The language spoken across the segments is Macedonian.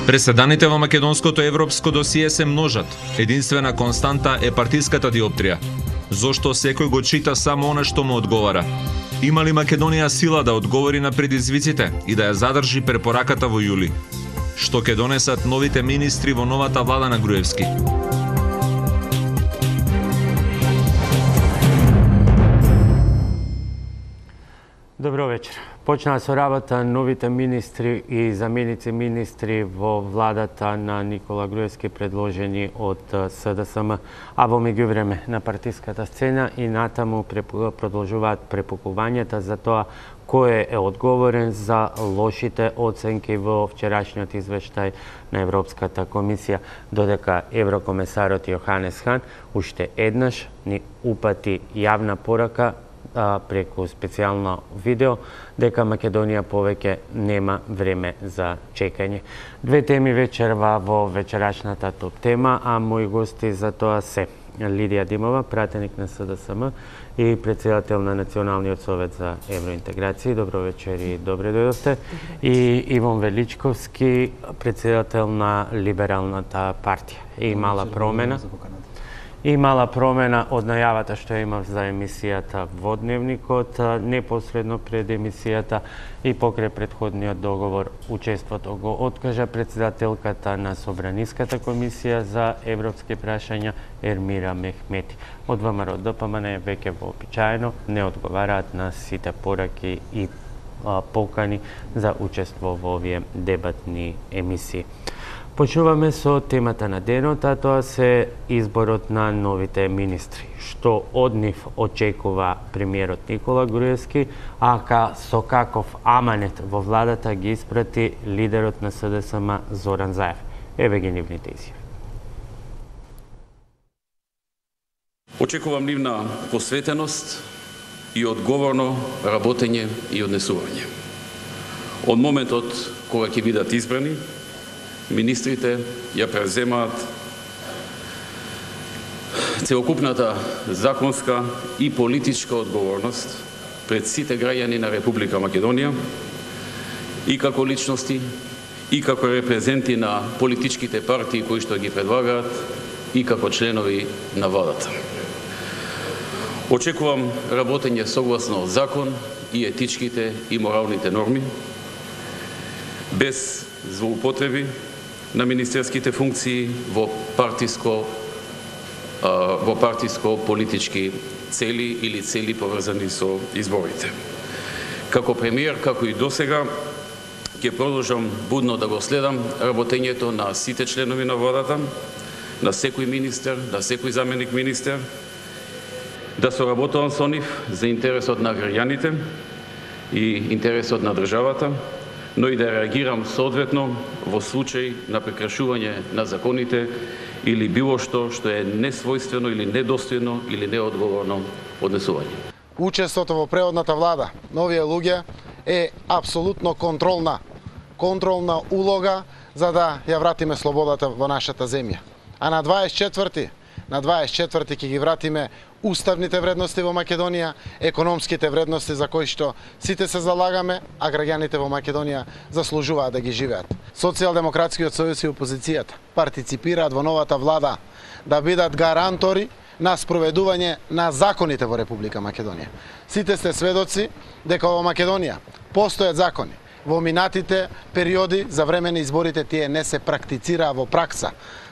Преседаните во македонското европско досие се множат. Единствена константа е партиската диоптрија. Зошто секој го чита само она што му одговара? Има ли Македонија сила да одговори на предизвиците и да ја задржи препораката во јули? Што ќе донесат новите министри во новата влада на Груевски? Добро вечер. Почнаа со работа новите министри и заменици министри во владата на Никола Груевски предложени од СДСМ, а во меѓувреме на партиската сцена и натаму продолжуваат препукувањата за тоа кој е одговорен за лошите оценки во вчерашниот извештај на Европската комисија, додека еврокомесарот Јоханес Хан уште еднаш ни упати јавна порака преку специјално видео дека Македонија повеќе нема време за чекање. Две теми вечерва во вечерашната топ тема, а мои гости за тоа се Лидија Димова, пратеник на СДСМ и председател на Националниот совет за евроинтеграција. Добро вечер и добре дојдовте. И Иван Величковски, председател на Либералната партија. И мала промена. И мала промена од најавата што имав за емисијата во Дневникот, непосредно пред емисијата и покрај претходниот договор учеството го откажа председателката на Собраниската комисија за европски прашања Ермира Мехмети. Од ВМРО ДПМН веќе вообичаено не одговараат на сите пораки и покани за учество во овие дебатни емисии. Почнуваме со темата на денот, а тоа се изборот на новите министри. Што од нив очекува премиерот Никола Груевски, а со каков аманет во владата ги испрати лидерот на СДСМ Зоран Заев. Еве ги нивните изјави. Очекувам нивна посветеност и одговорно работење и однесување. Од моментот кога ќе бидат избрани, министрите ја преземаат целокупната законска и политичка одговорност пред сите граѓани на Република Македонија и како личности, и како репрезенти на политичките партии кои што ги предлагаат, и како членови на владата. Очекувам работење согласно закон и етичките и моралните норми, без злоупотреби на министерските функции во партиско-политички цели или цели поврзани со изборите. Како премиер, како и досега, ќе продолжам будно да го следам работењето на сите членови на владата, на секој министер, на секој заменик министер, да соработувам со нив за интересот на граѓаните и интересот на државата, но и да реагирам соодветно во случај на прекршување на законите или било што е несвојствено или недостојно или неодговорно однесување. Учеството во преходната влада на овие луѓе е апсолутно контролна улога за да ја вратиме слободата во нашата земја. А на 24 ќе ги вратиме уставните вредности во Македонија, економските вредности за кои што сите се залагаме, а граѓаните во Македонија заслужуваат да ги живеат. Социјалдемократскиот сојуз и опозицијата партиципираат во новата влада да бидат гарантори на спроведување на законите во Република Македонија. Сите сте сведоци дека во Македонија постојат закони. Во минатите периоди за време на изборите тие не се практицираа во пракса.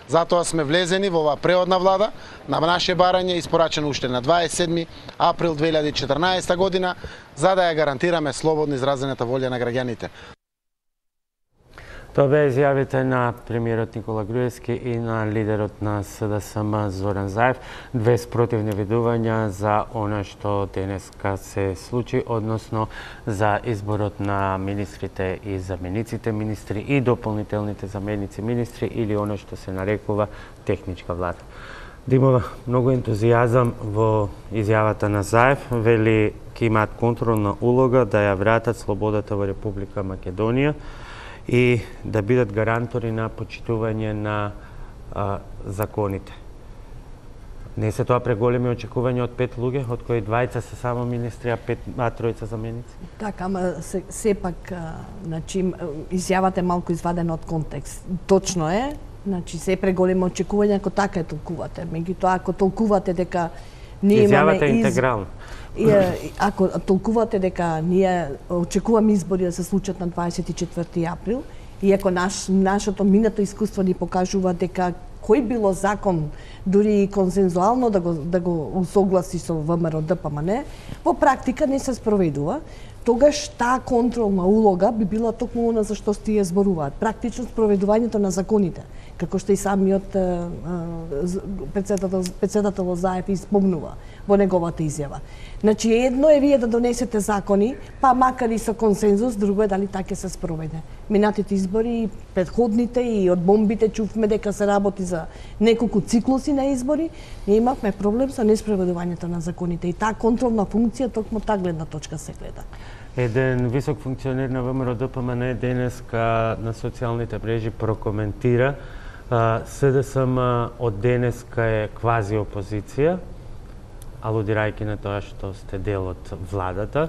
Затоа сме влезени во оваа преодна влада на наше барање испорачено уште на 27 април 2014 година за да ја гарантираме слободно изразената волја на граѓаните. Тоа беа изјавите на премиерот Никола Груевски и на лидерот на СДСМ Зоран Заев. Две спротивни видувања за она што денеска се случи, односно за изборот на министрите и замениците министри и дополнителните заменици министри или она што се нарекува техничка влада. Димова, многу ентузијазам во изјавата на Заев, вели ќе имаат контролна улога да ја вратат слободата во Република Македонија и да бидат гарантори на почитување на законите. Не се тоа преголеми очекувања од 5 луѓе, од кои 2 се само министри, а 3 заменици? Така, ама сепак, значи, изјавата е малку извадена од контекст. Точно е, значи, се преголеми очекувања, ако така е толкувате. Меѓутоа, ако толкувате дека ние имаме... Изјавата е интегрална. Ако толкувате дека ние очекуваме избори да се случат на 24 април, и ако нашето минато искуство ни покажува дека кој било закон, дури и консензуално да го усогласи со ВМРО ДПМН, во практика не се спроведува, тогаш таа контролна улога би била токму она за што тие зборуваат. Практично спроведувањето на законите, како што и самиот председател Заев испомнува во неговата изјава. Значи, едно е вие да донесете закони, па макар и со консензус, друго е дали така се спроведе. Минатите избори, предходните и од бомбите чувме дека се работи за неколку циклуси на избори, ние имавме проблем со неспроведувањето на законите и таа контролна функција токму таа гледна точка се гледа. Еден висок функционер на ВМРО ДПМН денеска на социјалните мрежи прокоментира СДСМ од денеска е квази опозиција, алудирајќи на тоа што сте дел од владата.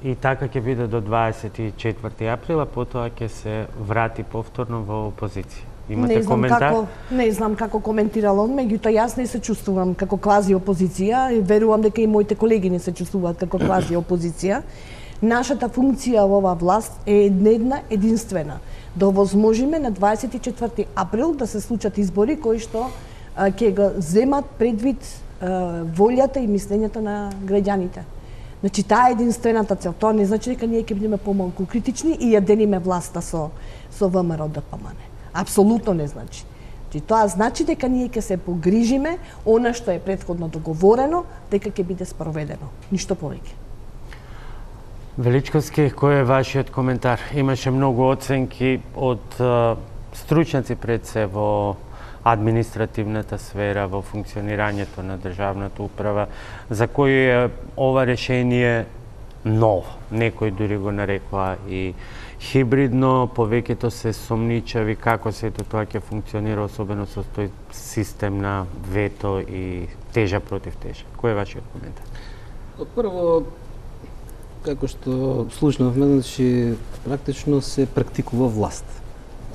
И така ќе биде до 24 априла, потоа ќе се врати повторно во опозиција. Имате коментар? Не знам како коментирал он, меѓутоа јас не се чувствувам како квази опозиција и верувам дека и моите колеги не се чувствуваат како квази опозиција. Нашата функција во оваа власт е една единствена, да овозможиме на 24 април да се случат избори кои што ќе го земат предвид волјата и мислењето на граѓаните. Значи, таа е единствената цел. Тоа не значи дека ние ќе бидеме помалку критични и ја делиме власта со ВМРО ДПМН. Апсолутно не значи. Тоа значи дека ние ќе се погрижиме она што е претходно договорено, дека ќе биде спроведено. Ништо повеќе. Величковски, кој е вашиот коментар? Имаше многу оценки од стручњаци пред се во административната сфера, во функционирањето на државната управа, за кој е ова решение ново. Некој дури го нарекла и хибридно, повеќето се сомничави како сето тоа ќе функционира, особено со тој систем на вето и тежа против тежа. Кој е вашиот коментар? Прво, како што слушнавме, значи практично се практикува власт.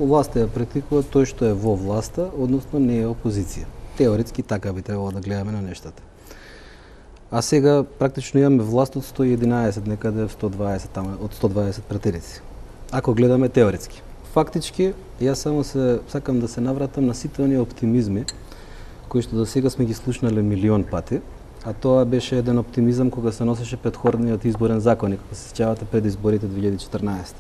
Власта ја практикува тој што е во власта, односно не е опозиција. Теоретски така би требало да гледаме на нештата. А сега практично имаме власт од 111, некаде 120, тamo, од 120 пратеници. Ако гледаме теоретски. Фактички, јас само сакам да се навратам на сите оние оптимизми кои што до сега сме ги слушнале милион пати, а тоа беше еден оптимизам кога се носеше претходниот изборен законник, кога се сеќавате пред изборите 2014.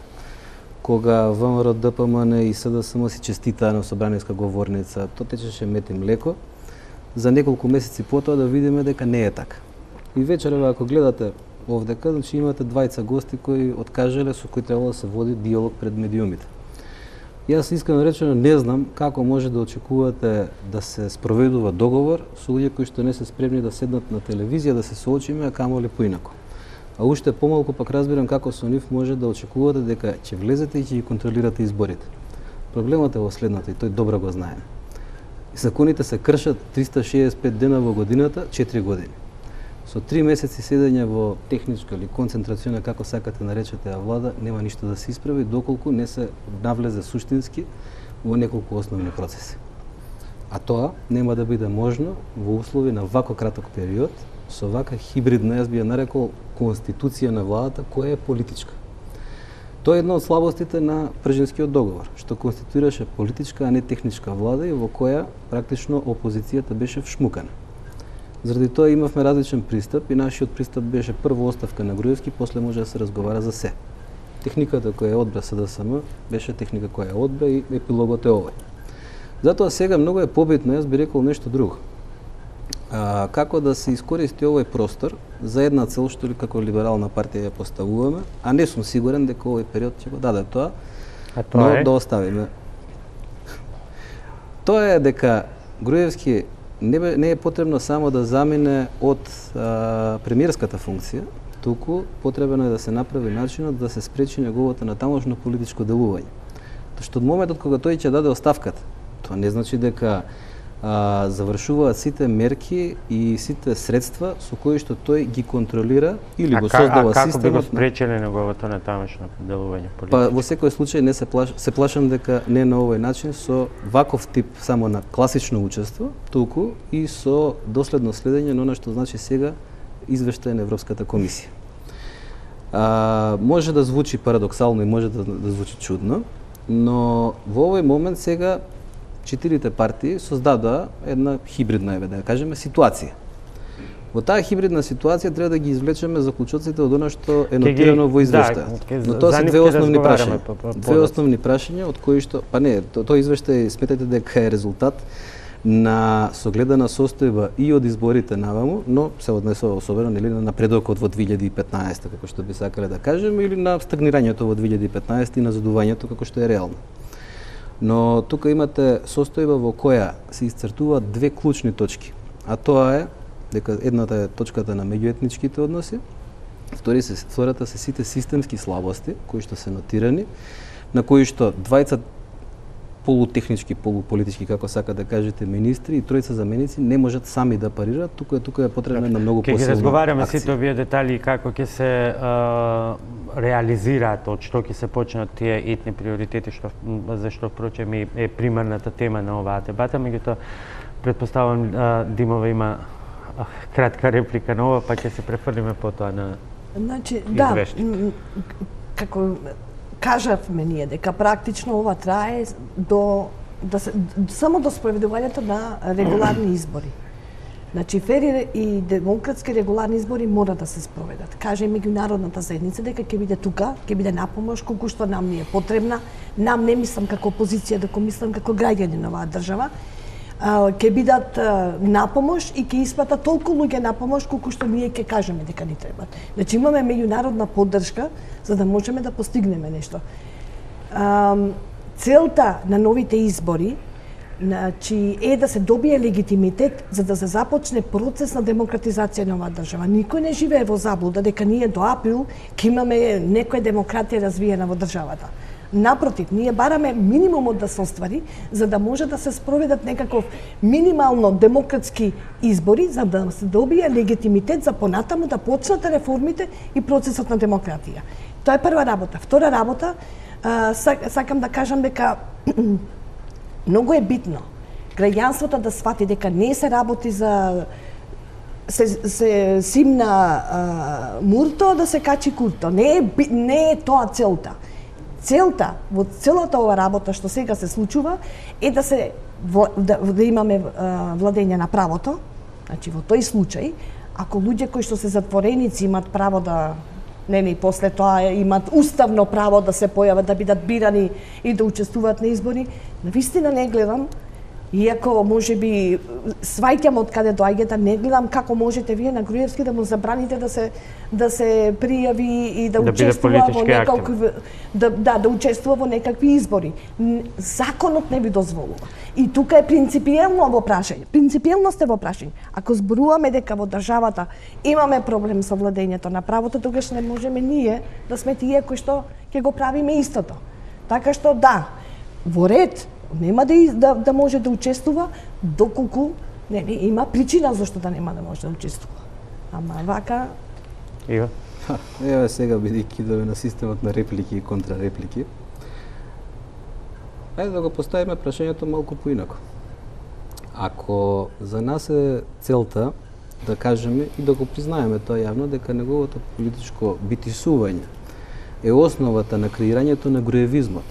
Кога ВМРО ДПМН и СДСМ си честитаа на собраниска говорница, тоа течеше мед и млеко, за неколку месеци потоа да видиме дека не е така. И вечерва, ако гледате овдека, значи имате двајца гости кои откажале, со кои требало да се води диалог пред медиумите. Јас искрено речено не знам како може да очекувате да се спроведува договор со луѓе кои што не се спремни да седнат на телевизија, да се соочиме, а камоли поинако. А уште помалку пак разбирам како со нив може да очекувате дека ќе влезете и ќе ги контролирате изборите. Проблемот е во следното и тој добро го знаеме. Законите се кршат 365 дена во годината, 4 години. Со 3 месеци седење во техничка или концентрациона, како сакате наречете влада, нема ништо да се исправи доколку не се навлезе суштински во неколку основни процеси. А тоа нема да биде можно во услови на вако краток период, со вака хибридна, јас би ја нарекол, конституција на владата која е политичка. Тоа е една од слабостите на Пржинскиот договор, што конституираше политичка, а не техничка влада и во која практично опозицијата беше вшмукана. Заради тоа имавме различен пристап и нашиот пристап беше прво оставка на Груевски, после може да се разговара за се. Техниката која одбра СДСМ беше техника која одбра и епилогот е овој. Затоа сега многу е побитно, јас би рекол нешто друго. Како да се искористи овој простор за една цел што ли како либерална партија ја поставуваме, а не сум сигурен дека овој период ќе го даде тоа. Но да оставиме. Тоа е дека Груевски не е потребно само да замине од премиерската функција, туку потребно е да се направи начинот да се спречи неговото натамошно политичко делување. Тоа што од моментот кога тој ќе даде оставката, тоа не значи дека завршуваат сите мерки и сите средства со кои што тој ги контролира или го создава системот. А како би го спречеле неговото натамошно делување политички? Па во секој случај не се плашам дека не на овој начин со ваков тип само на класично учество, туку и со доследно следење на она што значи сега извештај на Европската комисија. Може да звучи парадоксално и може да звучи чудно, но во овој момент сега четирите партии создадоа една хибридна, да ја кажеме, ситуација. Во таа хибридна ситуација треба да ги извлечеме заклучоците од она што е нотирано во извештајот. Но тоа се две основни прашања. Две основни прашања од кои што, па не, тој извештај сметате дека е резултат на согледана состојба и од изборите наваму, но се однесува особено нели на напредокот во 2015, како што би сакале да кажеме, или на стагнирањето во 2015 и назадувањето како што е реално. Но тука имате состојба во која се исцртуваат две клучни точки, а тоа е дека едната е точката на меѓуетничките односи, втората се сите системски слабости кои што се нотирани, на кои што двајца полутехнички, полуполитички, како сака да кажете, министри и тројца заменици не можат сами да парираат, тука е потребна на многу посилна акција. Ќе ги разговараме сите овие детали и како ќе се реализираат, од што ќе се почнат тие етни приоритети, зашто впрочем е примарната тема на оваа дебата, меѓутоа претпоставувам Димова има кратка реплика на ова, па ќе се префрлиме потоа на извештајот. Да, како кажавме ние дека практично ова трае само до спроведувањето на регуларни избори. Значи, фери и демократски регуларни избори мора да се спроведат. Каже меѓународната заедница дека ќе биде тука, ќе биде на помош колку што нам ни е потребна. Нам не мислам како опозиција, дека мислам како граѓани на оваа држава. Ќе бидат на помош и ќе испратат толку луѓе на помош колку што ние ќе кажеме дека ни требат. Значи имаме меѓународна поддршка за да можеме да постигнеме нешто. Целта на новите избори е да се добие легитимитет за да се започне процес на демократизација на оваа држава. Никој не живее во заблуда дека ние до април ќе имаме некоја демократија развиена во државата. Напротив, ние бараме минимумот да се оствари, за да може да се спроведат некаков минимално демократски избори, за да се добие легитимитет за понатаму да почнат реформите и процесот на демократија. Тоа е прва работа. Втора работа, сакам да кажам дека многу е битно граѓанството да свати дека не се работи за се симна мурто да се качи курто. Не е тоа целта. Целта во целата ова работа што сега се случува е да имаме владење на правото. Значи во тој случај, ако луѓе кои што се затвореници имат право да и после тоа имат уставно право да се појават, да бидат бирани и да учествуваат на избори, навистина не гледам, иако можеби сваќам од каде доаѓате, не гледам како можете вие на Груевски да му забраните да се пријави и да учествува во некакви да учествува во некакви избори. Законот не ви дозволува. И тука е принципиелно во прашање. Принципиелност е во прашање. Ако зборуваме дека во државата имаме проблем со владењето на правото, тогаш не можеме ние да сме тие кои што ќе го правиме истото. Така што да, во ред нема да може да учествува доколку има причина зашто да нема да може да учествува. Ама вака Ева сега бидејќи идеме на системот на реплики и контрареплики. Ајде да го поставиме прашањето малку поинако. Ако за нас е целта да кажеме и да го признаеме тоа јавно дека неговото политичко битисување е основата на креирањето на груевизмот,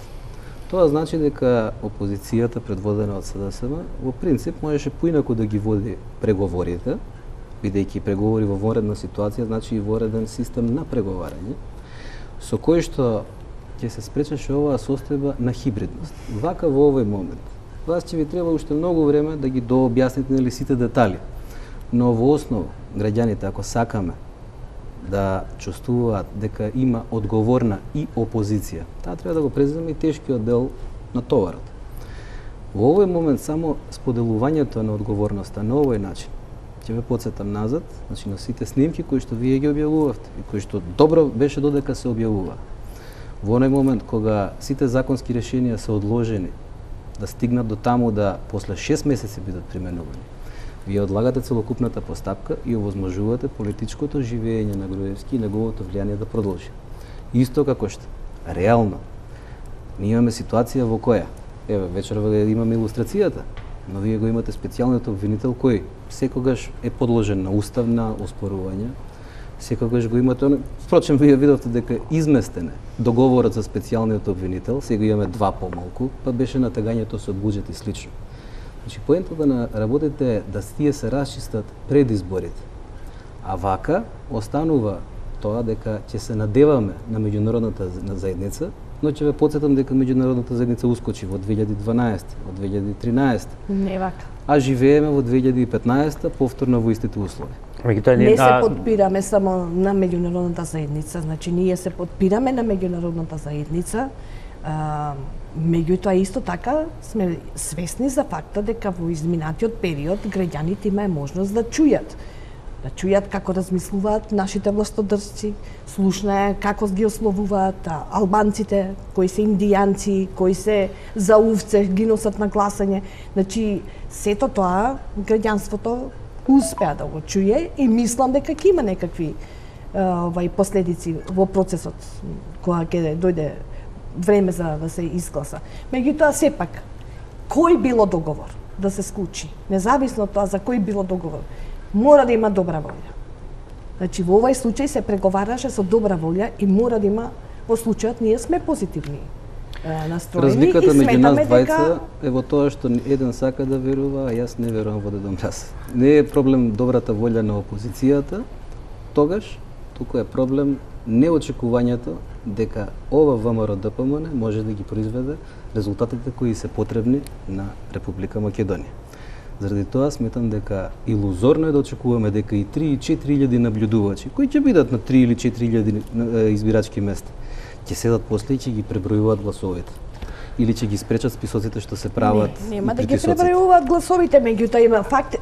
тоа значи дека опозицијата предводена од СДСМ во принцип можеше поинаку да ги води преговорите, бидејќи преговори во вонредна ситуација значи и вонреден систем на преговарање, со кој што ќе се спречеше оваа состојба на хибридност. Вака во овој момент. Вас ќе ви треба уште многу време да ги дообјасните нели сите детали. Но во основа граѓаните ако сакаме да чувствуваат дека има одговорна и опозиција, таа треба да го преземе и тешкиот дел на товарот. Во овој момент само споделувањето на одговорноста на овој начин ќе ве потсетам назад, значи на сите снимки кои што вие ги објавувавте и кои што добро беше додека се објавува. Во оној момент кога сите законски решенија се одложени да стигнат до таму да после 6 месеци бидат применувани, вие одлагате целокупната постапка и овозможувате политичкото живење на Груевски и неговото влијание да продолжи. Исто како што реално ние имаме ситуација во која, еве вечерва имаме илустрацијата, но вие го имате специјалниот обвинител кој секогаш е подложен на уставна оспорувања, секогаш го имате, впрочем вие видовте дека изместене договорот за специјалниот обвинител, сега имаме 2 помалку, па беше натагањето со буџет и слично. Значи, поентата на работите е да тие се расчистат пред изборите. А вака останува тоа дека ќе се надеваме на меѓународната заедница, но ќе ве потсетам дека меѓународната заедница ускочи во 2012, во 2013. Не вака. А живееме во 2015 повторно во истите услови. Не се подпираме само на меѓународната заедница, значи ние се подпираме на меѓународната заедница, меѓутоа исто така сме свесни за факта дека во изминатиот период граѓаните имаат можност да чујат како размислуваат нашите властодржци, слушнаа како ги ословуваат албанците, кои се индијанци, кои се за овце, ги носат на гласање. Значи, сето тоа граѓанството успеа да го чуе и мислам дека ќе има некакви последици во процесот кога ќе дојде време за да се изгласа. Меѓутоа сепак кој било договор да се склучи, независно од тоа за кој било договор, мора да има добра волја. Значи во овој случај се преговараше со добра волја и мора да има, во случајот ние сме позитивни настроени. Разликата меѓу нас двајца дека е во тоа што еден сака да верува, а јас не верувам во Дедо Мраз. Не е проблем добрата волја на опозицијата, тогаш, туку е проблем неочекувањето дека ова ВМРО ДПМН може да ги произведе резултатите кои се потребни на Република Македонија. Заради тоа сметам дека илузорно е да очекуваме дека и 3 и 4.000 наблюдувачи, кои ќе бидат на 3 или 4.000 избирачки места, ќе седат после и ќе ги пребројуваат гласовите. Или ќе ги спречат списоците што се прават. Нема да ги пребројуваат гласовите, меѓутоа има факти.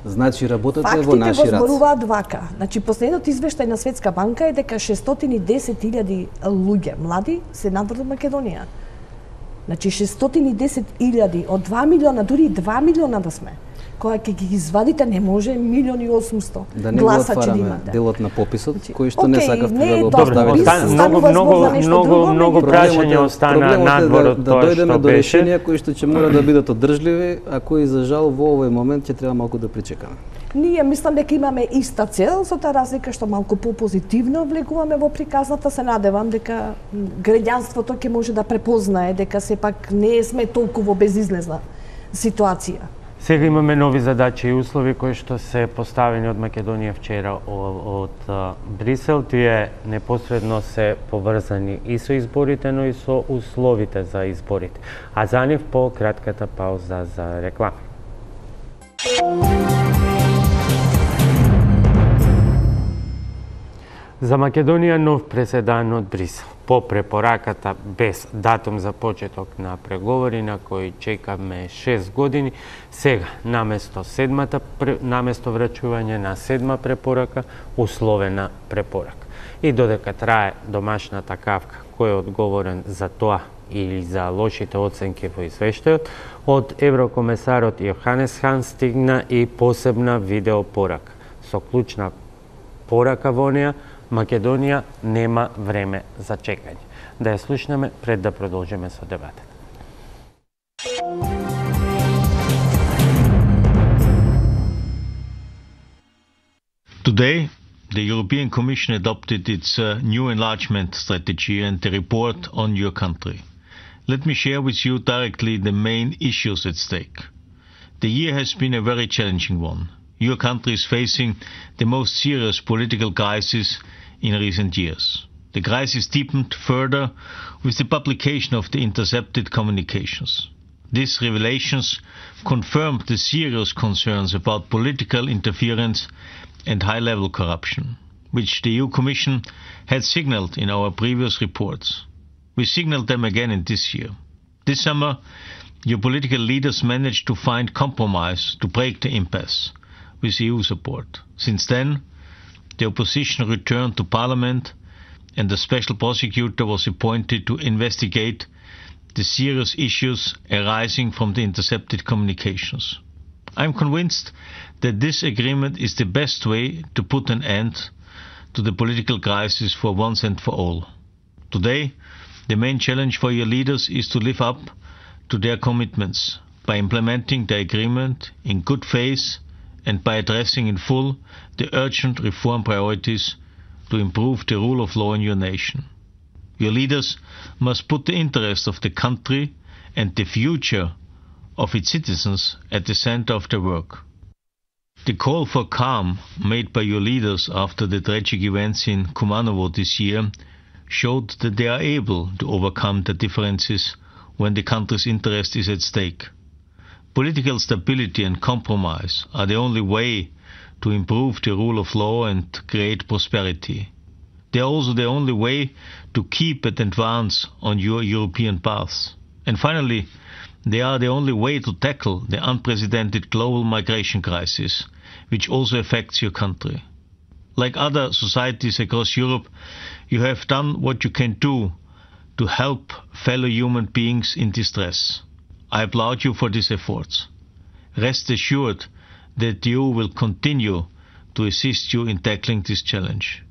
Значи работата е во наши фактите раце. го зборуваат вака. Значи последниот извештај на Светска банка е дека 610.000 луѓе млади се надвор од Македонија. Значи 610.000 од 2 милиона, дури 2 милиона да сме. Кога ќе ги извадите не може 1.800.000 да не гласа го ќе да отвараме имате. делот на пописот, Значи, кој што не сакавте да го добро, поставите. Многу прашања остана надвор од да тоа дојдеме што до беше. решенија кои што ќе мора да бидат одржливи, а кои за жал во овој момент ќе треба малку да причекаме. Ние мислам дека имаме иста цел, со таа разлика што малку попозитивно влегуваме во приказната, се надевам дека граѓанството ќе може да препознае дека сепак не сме толку безизлезна ситуација. Сега имаме нови задачи и услови кои што се поставени од Македонија вчера од Брисел. Тие непосредно се поврзани и со изборите, но и со условите за изборите. А за нив по кратката пауза за реклама. За Македонија нов преседан од Брисел. По препораката без датум за почеток на преговори на кои чекаме 6 години, сега наместо врачување на 7 препорака, условена препорака. И додека трае домашната кавка, кој е одговорен за тоа или за лошите оценки во извештајот, од еврокомесарот Јоханес Хан стигна и посебна видеопорака. Со клучна порака во неа, Македонија нема време за чекање. Да ја слушнеме пред да продолжиме со дебатата. Today, the European Commission adopted its new enlargement strategy and the report on your country. Let me share with you directly the main issues at stake. The year has been a very challenging one. Your country is facing the most serious political crisis in recent years. The crisis deepened further with the publication of the intercepted communications. These revelations confirmed the serious concerns about political interference and high-level corruption, which the EU Commission had signalled in our previous reports. We signalled them again in this year. This summer, your political leaders managed to find compromise to break the impasse with EU support. Since then, the opposition returned to Parliament and a special prosecutor was appointed to investigate the serious issues arising from the intercepted communications. I'm convinced that this agreement is the best way to put an end to the political crisis for once and for all. Today, the main challenge for your leaders is to live up to their commitments by implementing the agreement in good faith and by addressing in full the urgent reform priorities to improve the rule of law in your nation. Your leaders must put the interest of the country and the future of its citizens at the center of their work. The call for calm made by your leaders after the tragic events in Kumanovo this year showed that they are able to overcome the differences when the country's interest is at stake. Political stability and compromise are the only way to improve the rule of law and create prosperity. They are also the only way to keep and advance on your European path. And finally, they are the only way to tackle the unprecedented global migration crisis, which also affects your country. Like other societies across Europe, you have done what you can do to help fellow human beings in distress. I applaud you for these efforts. Rest assured that the EU will continue to assist you in tackling this challenge.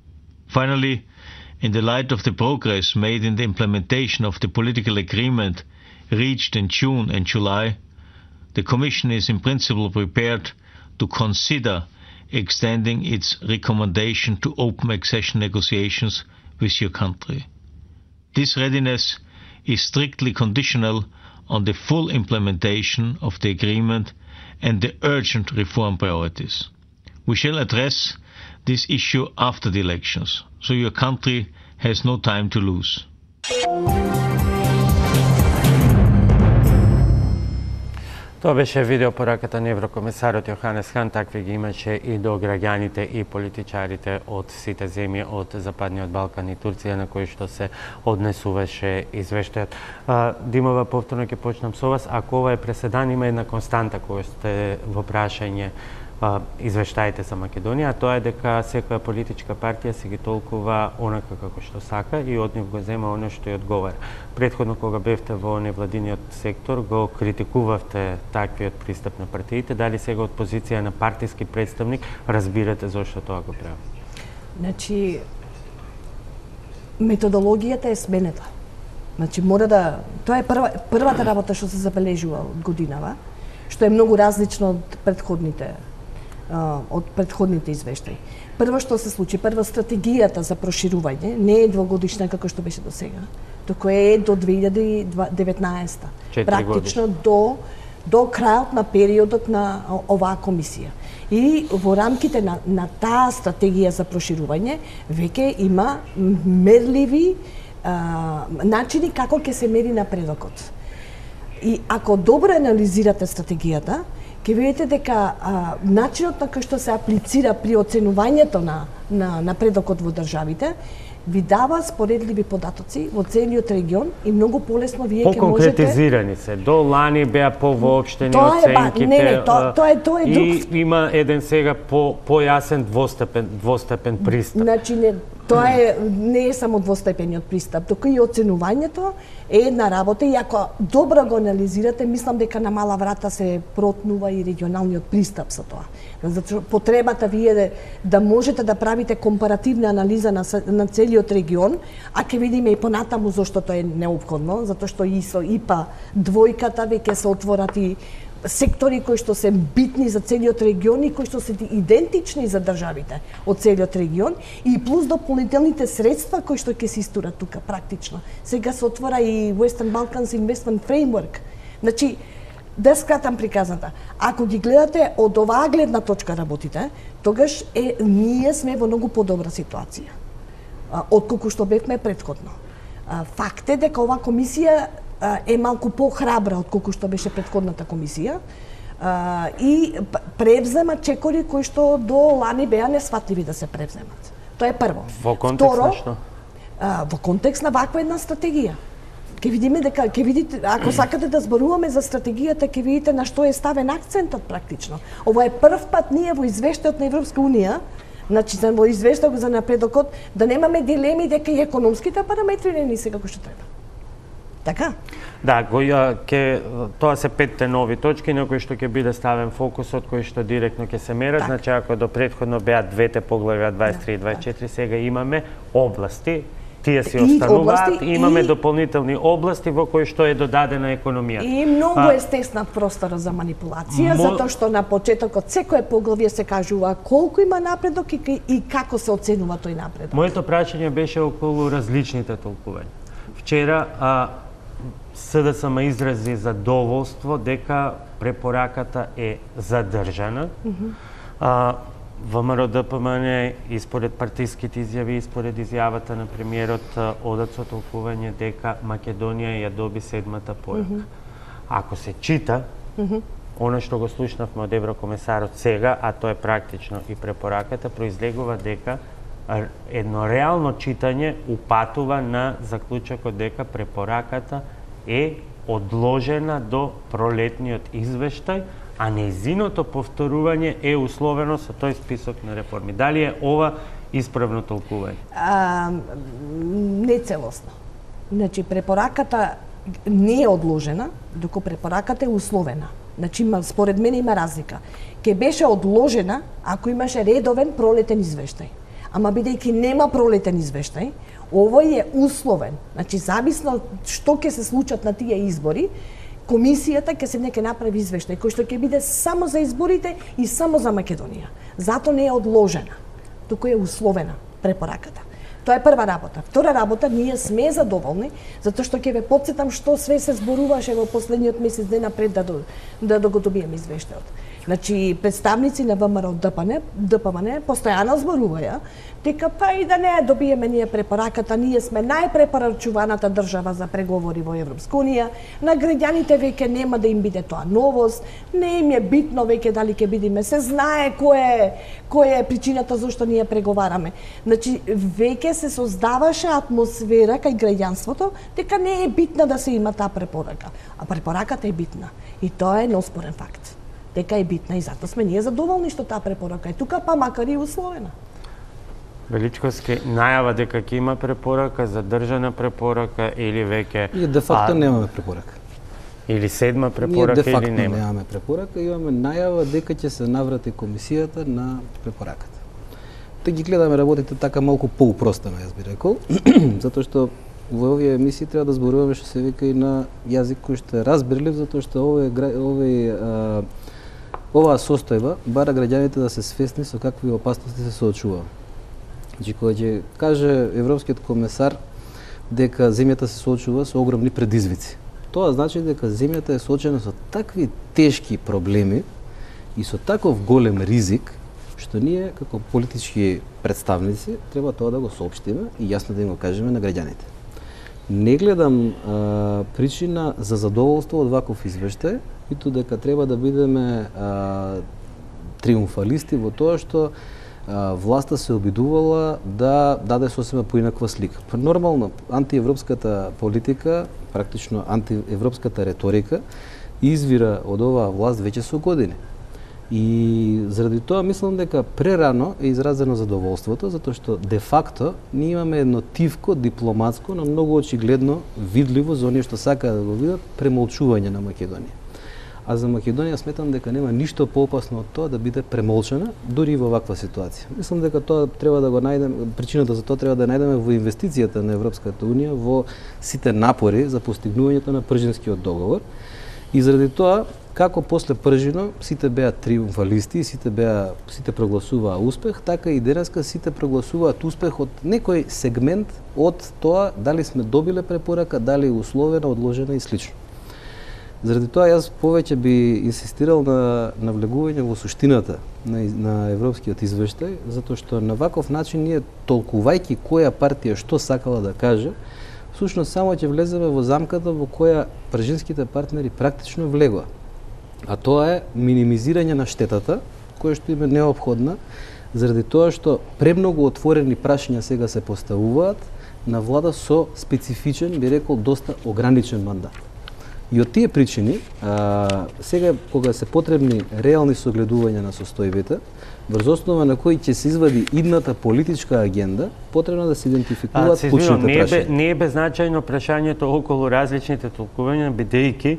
Finally, in the light of the progress made in the implementation of the political agreement reached in June and July, the Commission is in principle prepared to consider extending its recommendation to open accession negotiations with your country. This readiness is strictly conditional on the full implementation of the agreement and the urgent reform priorities. We shall address this issue after the elections, so your country has no time to lose. Тоа беше видеопораката на еврокомисарот Јоханес Хан, такви ги имаше и до граѓаните и политичарите од сите земји од Западниот Балкан и Турција на кои што се однесуваше извештајот. Димова, повторно ќе почнам со вас. Ако ова е преседан, има една константа која сте во прашање извештаите за Македонија, тоа е дека секоја политичка партија се ги толкува онака како што сака и од нив го зема оно што ја одговара. Претходно кога бевте во невладиниот сектор го критикувавте таквиот пристап на партиите, дали сега од позиција на партиски представник разбирате зошто тоа го прави? Значи методологијата е сменета. Значи мора да тоа е првата работа што се забележува од годинава, што е многу различно од предходните извештаи. Прво што се случи, прво стратегијата за проширување не е двогодишна како што беше до сега, туку е до 2019. Практично до крајот на периодот на оваа комисија. И во рамките на таа стратегија за проширување веќе има мерливи начини како ќе се мери напредокот. И ако добро анализирате стратегијата, ќе видите дека начинот на кој што се аплицира при оценувањето на напредокот во државите ви дава споредливи податоци во целиот регион и многу полесно вие ќе можете... Поконкретизирани се. До лани беа повоопштени оценките. Тоа е друг... И има еден сега појасен двостепен пристап. Значи, тоа не е само двостепениот пристап, туку и оценувањето е една работа и ако добро го анализирате, мислам дека на мала врата се протнува и регионалниот пристап со тоа. Затоа потребата вие да можете да правите компаративна анализа на целиот регион, а ќе видиме и понатаму зошто тоа е неопходно, затоа што и со ИПА двојката веќе се отворат и сектори кои што се битни за целиот регион и кои што се идентични за државите од целиот регион и плюс дополнителните средства кои што ќе се истурат тука практично. Сега се отвора и Western Balkans Investment Framework. Значи, да скратам приказната, ако ги гледате од оваа гледна точка работите, тогаш ние сме во многу подобра ситуација отколку што бевме претходно. Факт е дека оваа комисија е малку похрабра отколку што беше претходната комисија и превзема чекори кои што до лани беа несватливи да се превземат. Тоа е прво. Во контекст на што? Во контекст на ваква една стратегија. Ќе видиме дека ќе видите, ако сакате да зборуваме за стратегијата, ќе видите на што е ставен акцентот практично. Ова е прв пат ние во извештајот на Европска унија, значи во извештајот за напредокот, да немаме дилеми дека и економските параметри не ни се како што треба. Така? Да, тоа се 5 нови точки на кои што ќе биде ставен фокусот, кои што директно ќе се мерат. Значи, ако до претходно беа двете поглавја 23 и 24, сега имаме области, тие си остануваат, имаме дополнителни области во кои што е додадена економијата. И многу е стесна простора за манипулација, затоа што на почетокот секое поглавје се кажува колку има напредок и како се оценува тој напредок. Моето прашање беше околу различните толкувања. Вчера СДСМ изрази задоволство дека препораката е задржана. ВМРО ДПМН и според партиските изјави и според изјавата на премиерот одат со толкување дека Македонија ја доби 7-та порака. Ако се чита, она што го слушнавме од еврокомесарот сега, а тоа е практично и препораката, произлегува дека едно реално читање упатува на заклучокот дека препораката е одложена до пролетниот извештај, а нејзиното повторување е условено со тој список на реформи. Дали е ова исправно толкување? Не целосно. Значи, препораката не е одложена, доко препораката е условена. Значи, според мене има разлика. Ке беше одложена ако имаше редовен пролетен извештај. Ама бидејќи нема пролетен извештај, овој е условен. Значи, зависно што ќе се случат на тие избори, комисијата ќе направи извештај кој што ќе биде само за изборите и само за Македонија. Зато не е одложена, туку е условена препораката. Тоа е прва работа. Втора работа, ние сме задоволни, затоа што ќе ве потсетам што све се зборуваше во последниот месец дена пред да го добиеме извештајот. Значи, представници на ВМРО ДПМН постојано зборуваја дека па и да не добиеме ние препораката, ние сме најпрепорачуваната држава за преговори во Европска унија, на граѓаните веќе нема да им биде тоа новост, не им е битно веќе дали ќе бидеме, се знае која е причината зашто ние преговараме. Значи, веќе се создаваше атмосфера кај граѓанството дека не е битна да се има таа препорака, а препораката е битна и тоа е неоспорен факт. Дека е битна и затоа сме ние задоволни што таа препорака е тука, па макар и условена. Величковски, најава дека ќе има препорака, задржана препорака или веќе... Ние де факто немаме препорака. Или 7-ма препорака или нема? Ние де факто немаме препорака, имаме најава дека ќе се наврати комисијата на препораката. Те ги гледаме работите така малку поупростено, јас би рекол, затоа што во овие емисии треба да зборуваме што се вика и на јазик кој што е разбирлив, затоа што оваа состојба бара граѓаните да се свесни со какви опасности се соочува. Значи, кога ќе каже Европскиот комесар дека земјата се соочува со огромни предизвици, тоа значи дека земјата е соочена со такви тешки проблеми и со таков голем ризик, што ние како политички представници треба тоа да го соопштиме и јасно да им го кажеме на граѓаните. Не гледам причина за задоволство од ваков извештај, ниту дека треба да бидеме триумфалисти во тоа што власта се обидувала да даде сосема поинаква слика. Нормално, антиевропската политика, практично антиевропската реторика, извира од оваа власт веќе со години. И заради тоа мислам дека прерано е изразено задоволството, затоа што де факто ние имаме едно тивко дипломатско, но многу очигледно видливо за оние што сакаат да го видат премолчување на Македонија. А за Македонија сметам дека нема ништо поопасно од тоа да биде премолчана, дури и во ваква ситуација. Мислам дека тоа треба да го најдеме, причината за тоа треба да најдеме во инвестицијата на Европската унија во сите напори за постигнувањето на Пржинскиот договор. И заради тоа, како после Пржино сите беа триумфалисти, сите прогласуваа успех, така и денеска сите прогласуваат успех од некој сегмент од тоа дали сме добиле препорака, дали е условена, одложена и слично. Заради тоа јас повеќе би инсистирал на навлегување во суштината на европскиот извештај, затоа што на ваков начин ние толкувајќи која партија што сакала да каже, всушност само ќе влеземе во замката во која пржинските партнери практично влегоа. А тоа е минимизирање на штетата, која што им е неопходна, заради тоа што премногу отворени прашања сега се поставуваат на влада со специфичен, би рекол, доста ограничен мандат. И од тие причини, сега кога се потребни реални согледувања на состојбите, врз основа на кој ќе се извади идната политичка агенда, потребно да се идентификуваат клучните прашања. Не е беззначајно прашањето околу различните толкувања, бидејќи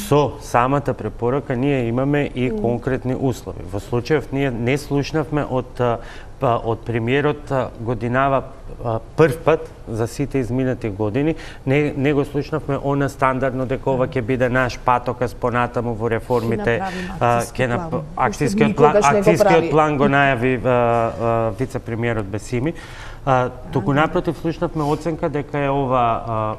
со самата препорака ние имаме и конкретни услови. Во случајов ние не слушнавме од премиерот годинава прв пат за сите изминати години, не го слушнавме она стандардно дека ова ќе биде наш патокас понатаму во реформите. Акцијскиот план го најави вице-премиерот Бесими. Туку напротив слушнавме оценка дека е ова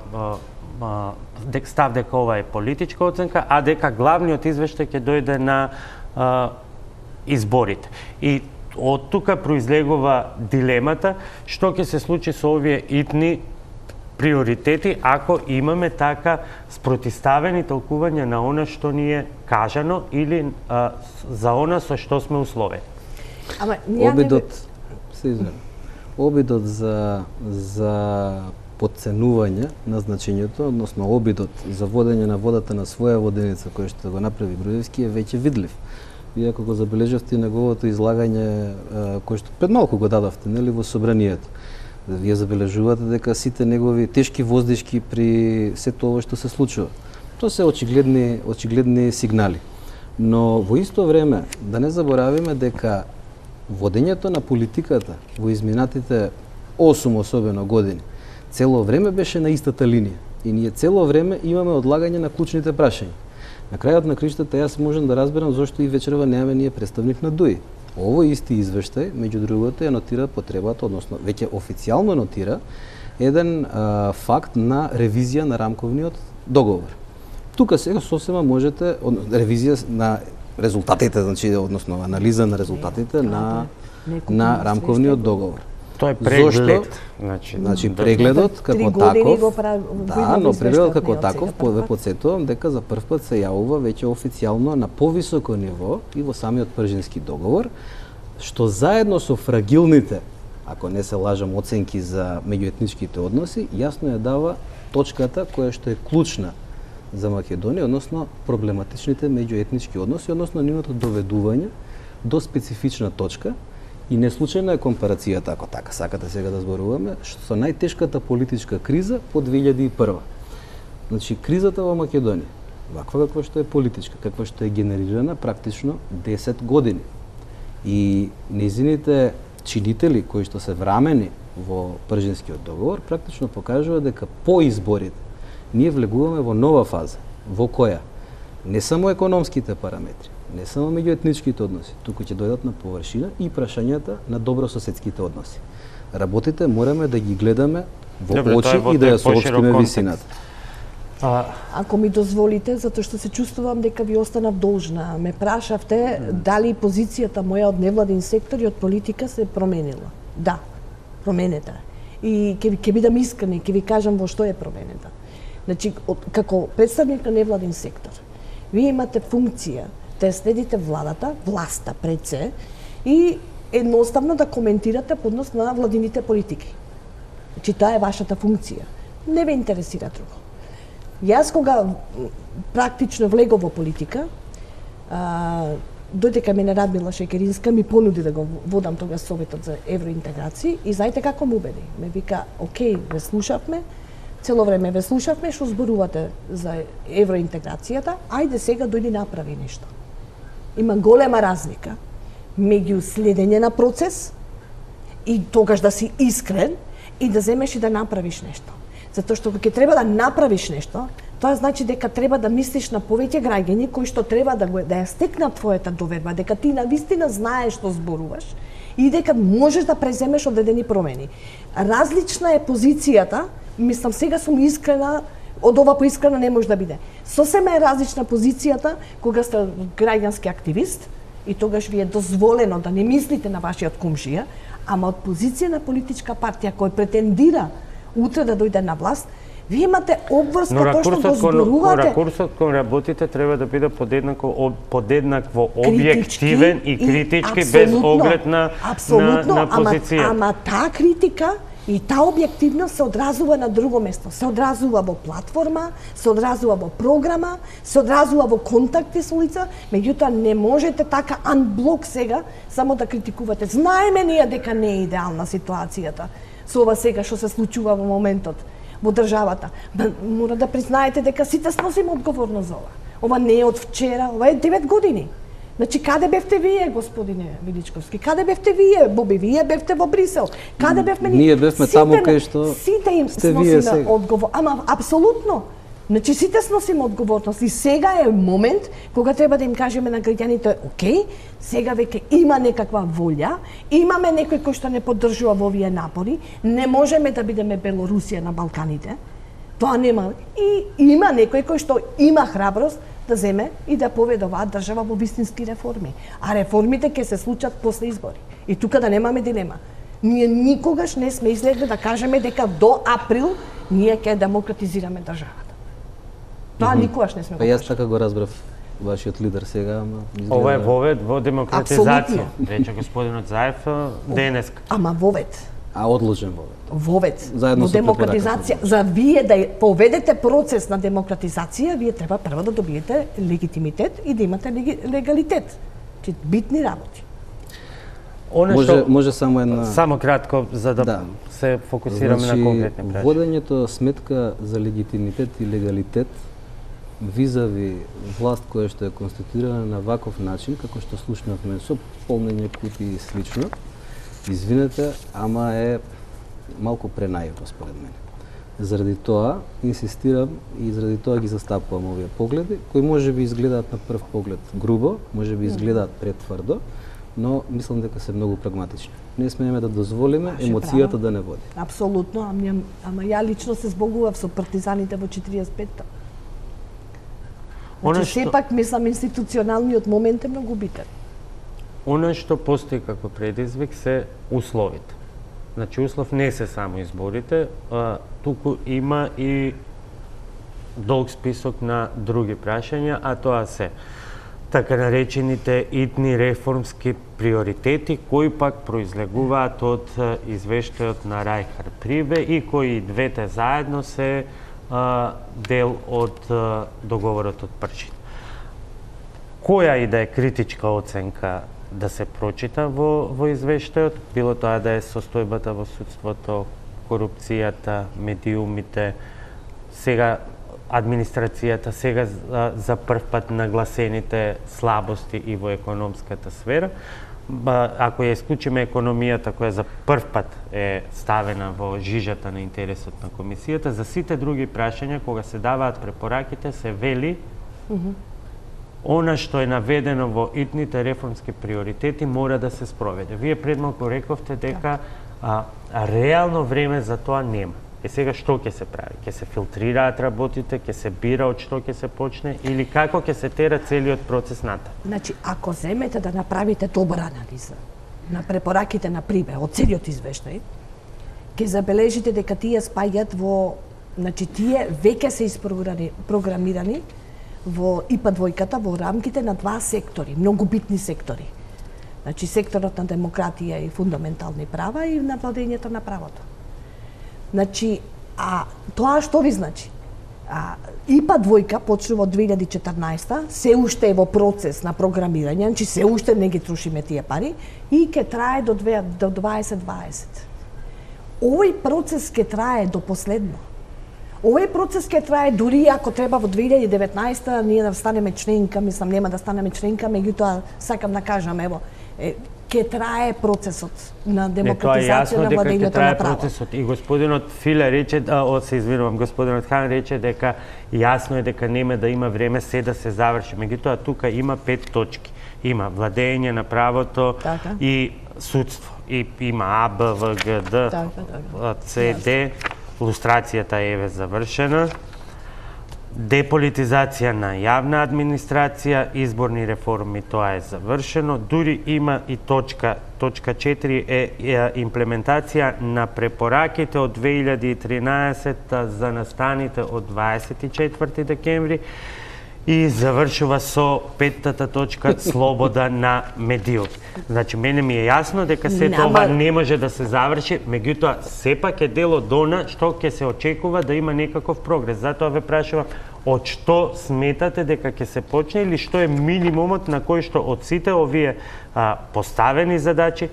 став дека ова е политичка оценка, а дека главниот извештај ќе дојде на изборите. И од тука произлегува дилемата што ќе се случи со овие итни приоритети ако имаме така спротиставени толкувања на она што ни е кажано или за она со што сме условени. Обидот за подценување на значењето, односно обидот за водење на водата на своја воденица кој што го направи Груевски е веќе видлив. Вие ако го забележавте неговото излагање кој што пред малку го дадовте, нели, во собранието. Вие забележувате дека сите негови тешки воздишки при сето ова што се случува. Тоа се очигледни сигнали. Но во исто време да не заборавиме дека водењето на политиката во изминатите 8 особено години цело време беше на истата линија и ние цело време имаме одлагање на клучните прашања. На крајот на криштата јас можам да разберам зошто и вечерва немаме ние представник на ДУИ. Овој исти извештај, меѓу другото, ја нотира потребата, односно веќе официјално нотира еден факт на ревизија на рамковниот договор. Тука сега сосема можете ревизија на резултатите, значи односно анализа на резултатите на рамковниот договор. Тоа е преглед. Значи прегледот како таков, но прегледот како таков ве потсетувам дека за прв пат се јавува веќе официјално на повисоко ниво и во самиот Пржински договор, што заедно со фрагилните, ако не се лажам, оценки за меѓуетничките односи, јасно ја дава точката која што е клучна за Македонија, односно проблематичните меѓуетнички односи, односно нивното доведување до специфична точка. И не случајна е компарацијата, ако така сакате сега да зборуваме, со најтешката политичка криза по 2001. Значи, кризата во Македонија, ваква каква што е политичка, каква што е генерирана практично 10 години. И незините чинители, кои што се врамени во Пржинскиот договор, практично покажува дека по изборите ние влегуваме во нова фаза, во која не само економските параметри, не само меѓуетничките односи, туку ќе дојдат на површина и прашањата на добрососедските односи. Работите мораме да ги гледаме во очи и да ја соопштиме висината. Ако ми дозволите, затоа што се чувствувам дека ви останав должна. Ме прашавте дали позицијата моја од невладин сектор и од политика се променила. Да, променета. И ќе бидам искрена и ќе ви кажам во што е променета. Значи, како представник на невладин сектор, вие имате функција да следите власта пред се и едноставно да коментирате по однос на владините политики. Значи, таа е вашата функција. Не ве интересира друго. Јас кога практично влегов во политика, додека мене Радмила Шекеринска ми понуди да го водам тогаш Советот за евроинтеграција и знаете како ме убеди. Ме вика, окей, ве слушавме, цело време ве слушавме што зборувате за евроинтеграцијата, ајде сега дојди направи нешто. Има голема разлика меѓу следење на процес и тогаш да си искрен и да земеш и да направиш нешто. Затоа што кога ќе треба да направиш нешто, тоа значи дека треба да мислиш на повеќе граѓани кои што треба да ја стекнат твојата доверба, дека ти навистина знаеш што зборуваш и дека можеш да преземеш одредени промени. Различна е позицијата, мислам сега сум искрена, од ова поискрена не може да биде. Сосема е различна позицијата кога сте граѓански активист и тогаш ви е дозволено да не мислите на вашиот комшија, ама од позиција на политичка партија која претендира утре да дојде на власт, вие имате обврска тоа што го зборувате. Ракурсот кон работите треба да биде подеднакво објективен и критички без оглед на позиција. Ама таа критика И таа објективност се одразува на друго место. Се одразува во платформа, се одразува во програма, се одразува во контакти со лица, меѓутоа не можете така анблок сега само да критикувате. Знаеме ние дека не е идеална ситуацијата со ова сега што се случува во моментот во државата. Мора да признаете дека сите сносиме одговорност за ова. Ова не е од вчера, ова е 9 години. Значи, каде бевте вие, господине Величковски? Каде бевте вие, Боби? Вие бевте во Брисел. Каде бевме ние бевме таму кај што сите им сносиме одговорност. Ама апсолутно. Значи, сите сносиме одговорност. И сега е момент кога треба да им кажеме на граѓаните, окей, сега веќе има некаква волја, имаме некој кој што не поддржува во овие напори, не можеме да бидеме Белорусија на Балканите. Тоа нема. И има некој кој што има храброст да земе и да поведе оваа држава во вистински реформи. А реформите ќе се случат после избори. И тука да немаме дилема. Ние никогаш не сме излегли да кажеме дека до април ние ќе демократизираме државата. Тоа никогаш не сме го кажали. Па јас така го разбрав вашиот лидер сега, ама ова е вовед во демократизација. Рече господинот Заев денеска. Ама вовед. А одложен вовед. Вовед. Во демократизација. За вие да поведете процес на демократизација, вие треба прво да добиете легитимитет и да имате легалитет. Чи битни работи. Може само една... Само кратко, за да се фокусираме на конкретни прашања. Водењето сметка за легитимитет и легалитет визави власт која што е конституирана на ваков начин, како што слушнавме со полнење кутии и слично, извинете, ама е малку пренаивно според мене. Заради тоа инсистирам и заради тоа ги застапувам овие погледи, кои може би изгледаат на прв поглед грубо, може би изгледаат претврдо, но мислам дека се многу прагматични. Не смееме да дозволиме емоцијата да не води. Апсолутно, ама ја лично се збогував со партизаните во 45-та. Значи, сепак мислам институционалниот момент е многу битен. Она што постои како предизвик се условите. Значи, услов не се само изборите, туку има и долг список на други прашања, а тоа се така наречените итни реформски приоритети, кои пак произлегуваат од извештајот на Рајхард Прибе и кои двете заедно се дел од договорот од Пршин. Која и да е критичка оценка да се прочита во извештајот, било тоа да е состојбата во судството, корупцијата, медиумите, сега администрацијата, сега за прв пат нагласените слабости и во економската сфера. Ако ја исклучиме економијата, која за прв пат е ставена во жижата на интересот на комисијата, за сите други прашања, кога се даваат препораките, се вели она што е наведено во итните реформски приоритети мора да се спроведе. Вие пред малку рековте дека реално време за тоа нема. Сега што ќе се прави? Ќе се филтрираат работите, ќе се бира од што ќе се почне или како ќе се тера целиот процес натаму? Значи, ако земете да направите добра анализа на препораките на Прибе од целиот извештај, ќе забележите дека тие спаѓаат во, значи тие веќе се испрограмирани во ИПА двојката во рамките на два сектори, многу битни сектори. Значи секторот на демократија и фундаментални права и на владењето на правото. Значи, тоа што ви значи? ИПА двојка почнува од 2014, се уште е во процес на програмирање, значи се уште не ги трошиме тие пари и ќе трае до 2020. Овој процес ќе трае до последно. Овој процес ќе трае дури ако треба во 2019 ние да станеме членка, мислам нема да станеме членка, меѓутоа сакам да кажам, ево, ќе трае процесот на демократизација на владењето на право. Процесот. И господинот Филе рече, се извинувам, господинот Хан рече дека јасно е дека нема да има време се да се заврши. Меѓутоа тука има 5 точки. Има владење на правото и судство. И има А, Б, В, Г, Д, С, Д. Лустрацијата е завршена. Деполитизација на јавна администрација, изборни реформи, тоа е завршено. Дури има и точка 4 е имплементација на препораките од 2013 за настаните од 24 декември и завршува со петтата точка слобода на медиот. Значи, мене ми е јасно дека сето ова не може да се заврши, меѓутоа сепак е дел од она што ќе се очекува да има некаков прогрес. Затоа ве прашувам, од што сметате дека ќе се почне или што е минимумот на кој што од сите овие поставени задачи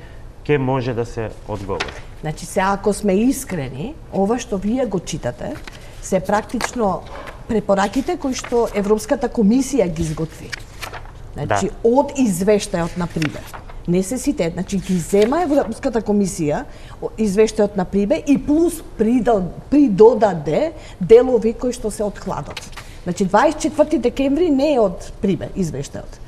ќе може да се одговори? Значи, се ако сме искрени, ова што вие го читате, се практично препораките кои што Европската комисија ги изготви. Значи, од извештајот на Прибе. Не се сите, значи ги зема Европската комисија извештајот на Прибе и плюс придодаде делови кои што се од хладот. Значи, 24 декември не е од Прибе извештајот.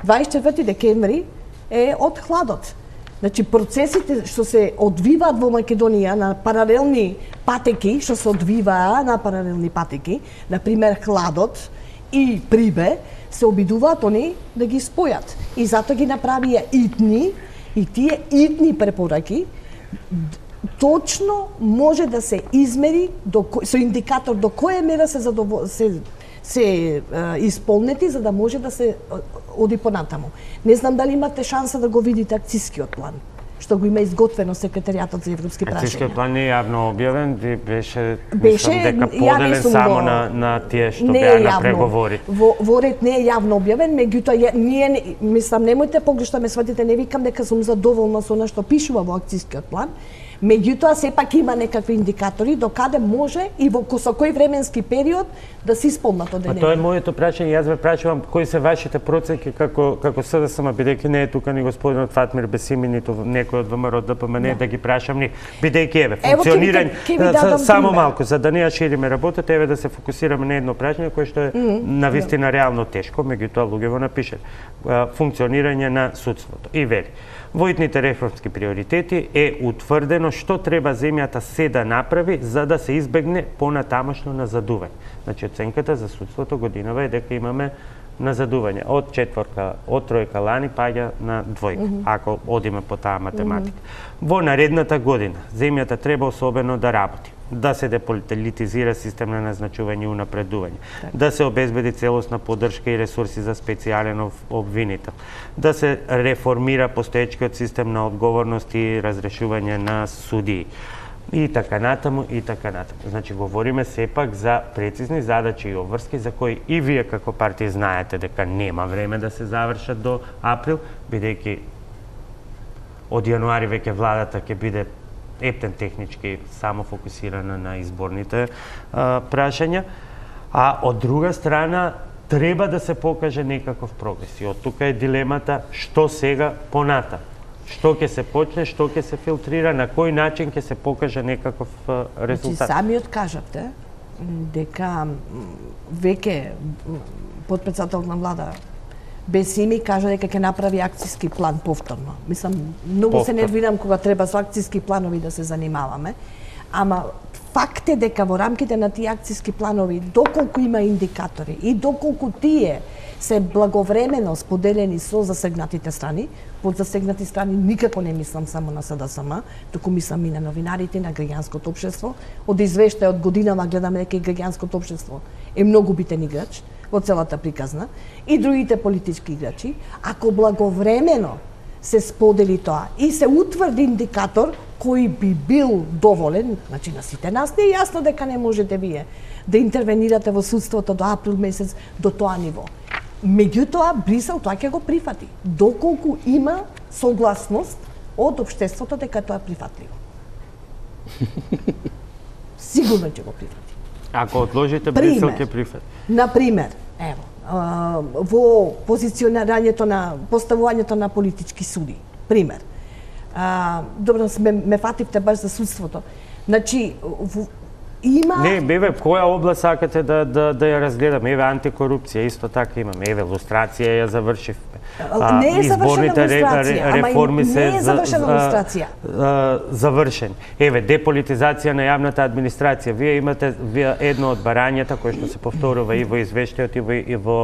24 декември е од хладот. Значи, процесите што се одвиваат во Македонија на паралелни патеки, што се одвиваа на паралелни патеки, например хладот и Прибе, се обидуваат они да ги спојат. И затоа ги направија итни, и тие итни препораки точно може да се измери со индикатор до која мера се исполнети за да може да се оди понатаму. Не знам дали имате шанса да го видите акцијскиот план, што го има изготвено секретаријатот за европски прашања. Акцијскиот план не е јавно објавен, беше дека поделен само на тие што беа на преговори. Во ред не е јавно објавен, меѓутоа ние мислам немојте погрешно ме сватите, не викам дека сум задоволна со она што пишува во акцијскиот план. Меѓутоа, сепак има некакви индикатори до каде може и со кој временски период да се исполнат одредени. Тоа е моето прашање, јас ве прашувам кои се вашите проценки како СДСМ, бидејќи не е тука ни господинот Фатмир Бесими, ниту некој од ВМРО ДПМН да ги прашам ни, бидејќи еве функционирање само малку за да не ја шириме работата, еве да се фокусираме на едно прашање кое што е навистина реално тешко, меѓутоа луѓе го напишат. Функционирање на судството. И вели: во итните реформски приоритети е утврдено што треба земјата се да направи за да се избегне понатамошно назадување. Значи, оценката за судството годинава е дека имаме назадување од четворка, од тројка лани паѓа на двојка, ако одиме по таа математика. Во наредната година земјата треба особено да работи, да се деполитизира систем на назначување и унапредување, да се обезбеди целосна поддршка и ресурси за специјален обвинител, да се реформира постоечкиот систем на одговорност и разрешување на судии. И така натаму, и така натаму. Значи, говориме сепак за прецизни задачи и обврски за кои и вие како партија знаете дека нема време да се завршат до април, бидејќи од јануари веќе владата ќе биде ептен технички само фокусирана на изборните прашања, а од друга страна треба да се покаже некаков прогрес. И од тука е дилемата што сега поната. Што ќе се почне, што ќе се филтрира, на кој начин ќе се покаже некаков резултат. Значи, самиот кажавте дека веќе потпредседател на влада Бесими кажа дека ќе направи акцијски план повторно. Мислам, многу се нервирам кога треба со акцијски планови да се занимаваме, ама факт е дека во рамките на тие акцијски планови, доколку има индикатори и доколку тие се благовремено споделени со засегнатите страни, под засегнати страни никако не мислам само на СДСМ, туку мислам и на новинарите, на граѓанското општество. Од извештај од годинава гледаме дека и граѓанското општество е многу битен играч во целата приказна, и другите политички играчи, ако благовремено се сподели тоа и се утврди индикатор кој би бил доволен, значи на сите нас не е јасно дека не можете вие да интервенирате во судството до април месец до тоа ниво. Меѓутоа, Брисел тоа ќе го прифати, доколку има согласност од општеството дека тоа е прифатливо. Сигурно ќе го прифати. Ако одложите, Брисел ќе прифати. Например, ево, во позиционирањето на поставувањето на политички суди. Пример. Добро, ме фативте баш за судството. Значи, има... Не, беве, која област сакате да ја разгледаме? Еве, антикорупција, исто така имаме. Еве, лустрација ја завршивме. Не е завршена лустрација, реформи не е завршена лустрација. Завршен. Еве, деполитизација на јавната администрација. Вие имате едно од барањата кој што се повторува и во извештајот и во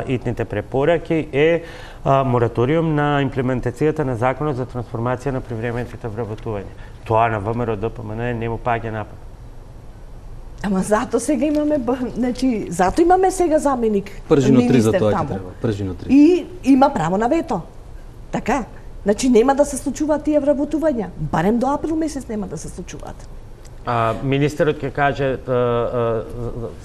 итните препораки е мораториум на имплементацијата на законот за трансформација на привремените вработување. Тоа на ВМРО ДПМН не му паѓа на памет. Ама зато сега имаме, значи, зато имаме сега заменик. Пржино 3 за тоа таму. ќе треба. Пржино 3. И има право на вето. Така. Значи нема да се случуваат тие вработувања. Барем до април месец нема да се случуваат. Министерот ќе каже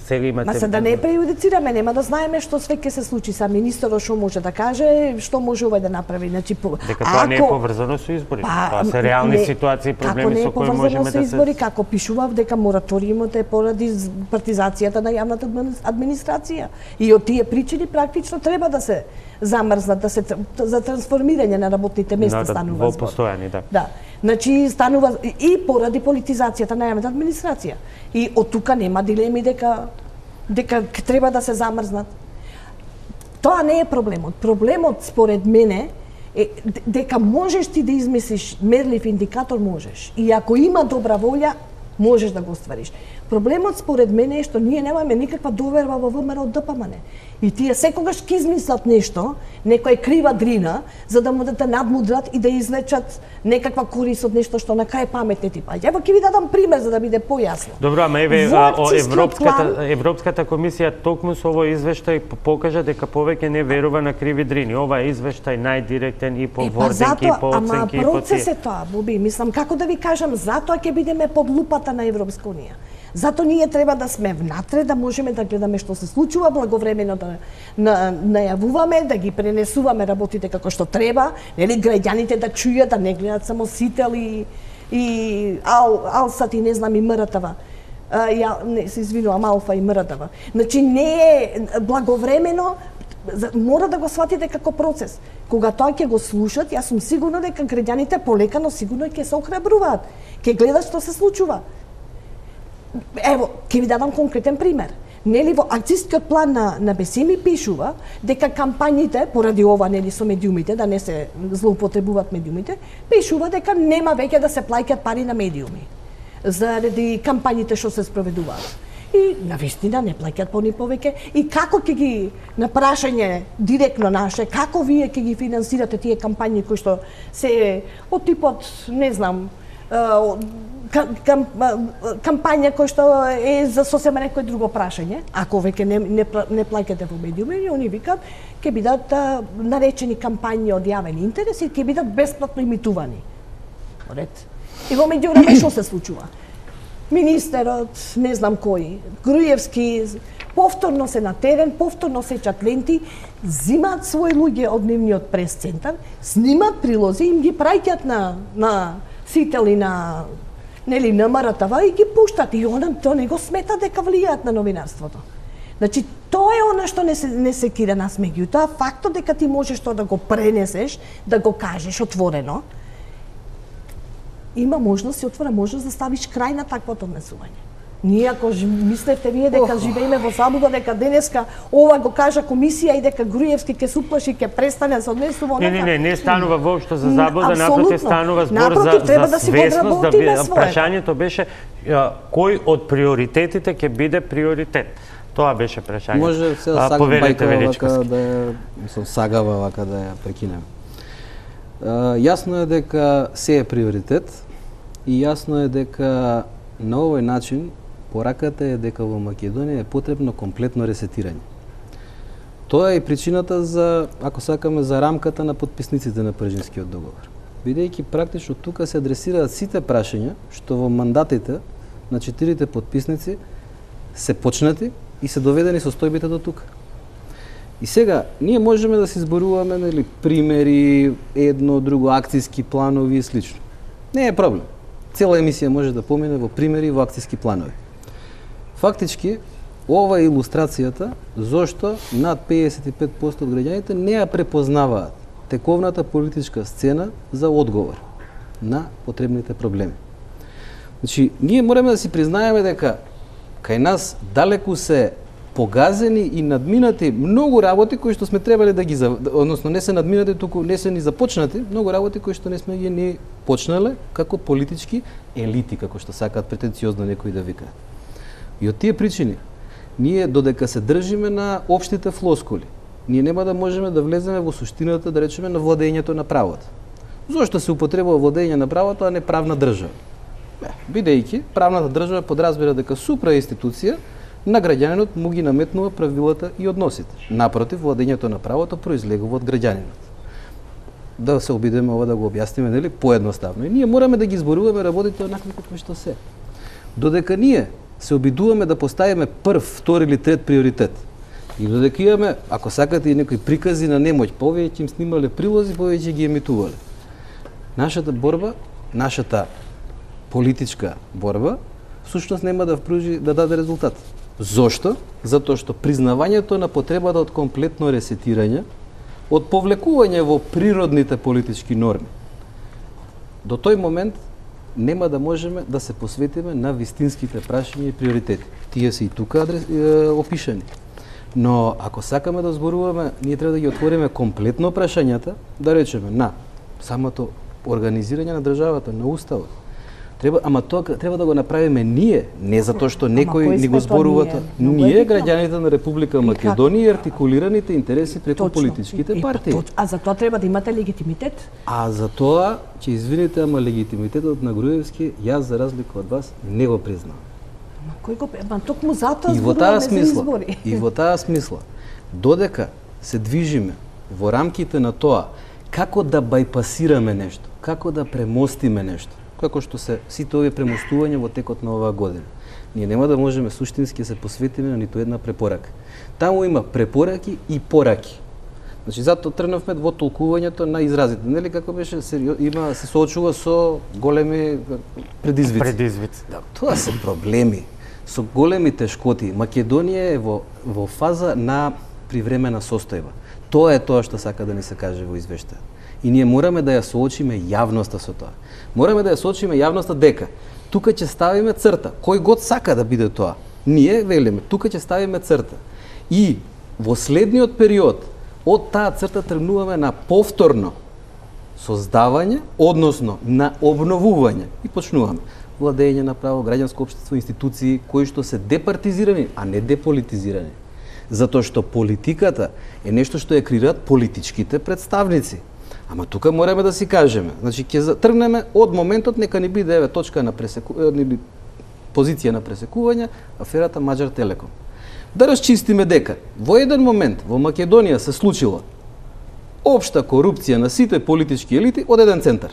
сега имате... Ма се да не преюдицираме, нема да знаеме што све ќе се случи. Са министерот што може да каже, што може овој да направи. Значи, дека тоа не е поврзано со избори. Тоа се реални ситуации и проблеми со кои можеме да се... избори, како пишував дека мораториумот е поради партизацијата на јавната администрација. И од тие причини практично треба да се замрзнат, да се за трансформирање на работните места станува збор. Во постојани, да. Да. Значи станува и поради политизацијата на јавната администрација. И од тука нема дилеми дека треба да се замрзнат. Тоа не е проблемот. Проблемот според мене е дека можеш ти да измислиш мерлив индикатор, можеш. И ако има добра волја, можеш да го оствариш. Проблемот според мене е што ние немаме никаква доверба во ВМРО ДПМН. И тие секогаш ќе измислат нешто, некоја крива дрина, за да му да те надмудрат и да извлечат некаква корис од нешто што на крај паметне ти паѓа. Ево ќе ви дадам пример за да биде појасно. Добро, ама еве Европската комисија токму со овој извештај покажа дека повеќе не верува на криви дрини. Ова е извештај најдиректен и по вординки, и по оценки, и по процес е тоа, Боби. Мислам, како да ви кажам, затоа ќе бидеме под лупата на Европска унија. Зато ние треба да сме внатре, да можеме да гледаме што се случува, благовремено да најавуваме, да ги пренесуваме работите како што треба, нели, граѓаните да чујат, да не гледат само Сител и Алсат и не знам и МРТВ. Не се извинувам, Алфа и МРТВ. Значи не е благовремено, мора да го сватите како процес. Кога тоа ќе го слушат, јас сум сигурна дека граѓаните полека, но сигурно ќе се охрабруваат. Ќе гледат што се случува. Ево, ќе ви дадам конкретен пример. Нели во акцијскиот план на БСМ пишува дека кампањите, поради ова нели со медиумите, да не се злоупотребуваат медиумите, пишува дека нема веќе да се плаќаат пари на медиуми заради кампањите што се спроведуваат. И навистина не плаќаат по ни повеќе. И како ќе ги, на прашање директно наше, како вие ќе ги финансирате тие кампањи кои што се од типот, не знам, кампања кој што е за сосема некој друго прашање, ако веќе не плаќате во медиуми, и они викаат ќе бидат наречени кампањи од јавен интерес и ќе бидат бесплатно имитувани. Ред. И во меѓувреме што се случува? Министерот, не знам кој, Груевски, повторно се на терен, повторно сечат ленти, зимаат своји луѓе од нивниот прес-центар, снимаат прилози, им ги праќаат на Сител и на МРТВ и ги пуштат. И тоа не го смета дека влијаат на новинарството. Значи, тоа е она што не се кира нас, меѓутоа фактот дека ти можеш тоа да го пренесеш, да го кажеш отворено, има можност, се отвора можност да ставиш крај на таквото однесување. Ние ако мислевте вие дека живееме во заблуда, дека денеска ова го кажа комисија и дека Груевски ќе се уплаши, ќе престане со однесува онака. Не станува воопшто за заблуда, напротив станува збор за свесност, да прашањето беше кој од приоритетите ќе биде приоритет. Тоа беше прашањето. Може се сагам бајка да ја сагава вака да ја прекинем. Јасно е дека се е приоритет и јасно е дека на овој начин пораката е дека во Македонија е потребно комплетно ресетирање. Тоа е и причината за, ако сакаме, за рамката на подписниците на Пржинскиот договор. Бидејќи практично тука се адресираат сите прашања што во мандатите на 4 подписници се почнати и се доведени состојбите до тука. И сега, ние можеме да се изборуваме, нели, примери, едно, друго, акцијски планови и слично. Не е проблем. Цела емисија може да помине во примери и во акцијски планови. Фактички, ова е илустрацијата зошто над 55% од граѓаните не ја препознаваат тековната политичка сцена за одговор на потребните проблеми. Значи, ние мораме да си признаеме дека кај нас далеку се погазени и надминати многу работи кои што сме требале да ги, односно не се надминати, туку не се ни започнати, многу работи кои што не сме ги ни почнале како политички елити, како што сакаат претенциозно некои да викаат. И од тие причини, ние додека се држиме на општите флоскули, ние нема да можеме да влеземе во суштината, да речеме, на владењето на правото. Зошто се употребува владење на правото, а не правна држава? Бидејќи правната држава подразбира дека супраинституција на граѓанинот му ги наметнува правилата и односите. Напротив, владењето на правото произлегува од граѓанинот. Да се обидеме ова да го објасниме, нели, поедноставно. И ние мораме да ги изборуваме работите онакви како што се. Додека ние се обидуваме да поставиме прв, втори или трет приоритет, и додека имаме, ако сакате, и некои прикази на немоќ, повеќе им снимале прилози, повеќе ги емитувале. Нашата борба, нашата политичка борба, всушност нема да впружи да даде резултат. Зошто? Затоа што признавањето на потребата од комплетно ресетирање, од повлекување во природните политички норми, до тој момент нема да можеме да се посветиме на вистинските прашања и приоритети. Тие се и тука опишани. Но ако сакаме да зборуваме, ние треба да ги отвориме комплетно прашањата, да речеме на самото организирање на државата, на уставот. Ама тоа треба да го направиме ние, не затоа што некој ни го зборува. Ние, граѓаните на Република Македонија, и артикулираните интереси преку политичките партии. А за тоа треба да имате легитимитет? А за тоа, че извините, ама легитимитетот на Груевски, јас за разлика од вас не го признавам. Кој го токму затоа зборуваме за избори. И во таа смисла, додека се движиме во рамките на тоа како да бајпасираме нешто, како да премостиме нешто, како што се сите овие премостувања во текот на оваа година, ние нема да можеме суштински да се посветиме на ниту една препорака. Таму има препораки и пораки. Значи, затоа тргнавме во толкувањето на изразите. Нели како беше, се соочува со големи предизвици. Да, тоа се проблеми, со големи тешкоти. Македонија е во фаза на привремена состојба. Тоа е тоа што сака да ни се каже во извештајот. И ние мораме да ја соочиме јавноста со тоа. Мораме да ја соочиме јавноста дека тука ќе ставиме црта. Кој год сака да биде тоа? Ние велиме, тука ќе ставиме црта. И во следниот период од таа црта тргнуваме на повторно создавање, односно на обновување. И почнуваме владење на право, граѓанско општество, институции кои што се департизирани, а не деполитизирани. Затоа што политиката е нешто што ја креираат политичките представници. Ама тука мораме да си кажеме, значи ќе тргнеме од моментот нека ни биде точка на позиција на пресекување аферата Маđar Telekom. Да расчистиме дека во еден момент во Македонија се случила општа корупција на сите политички елити од еден центар.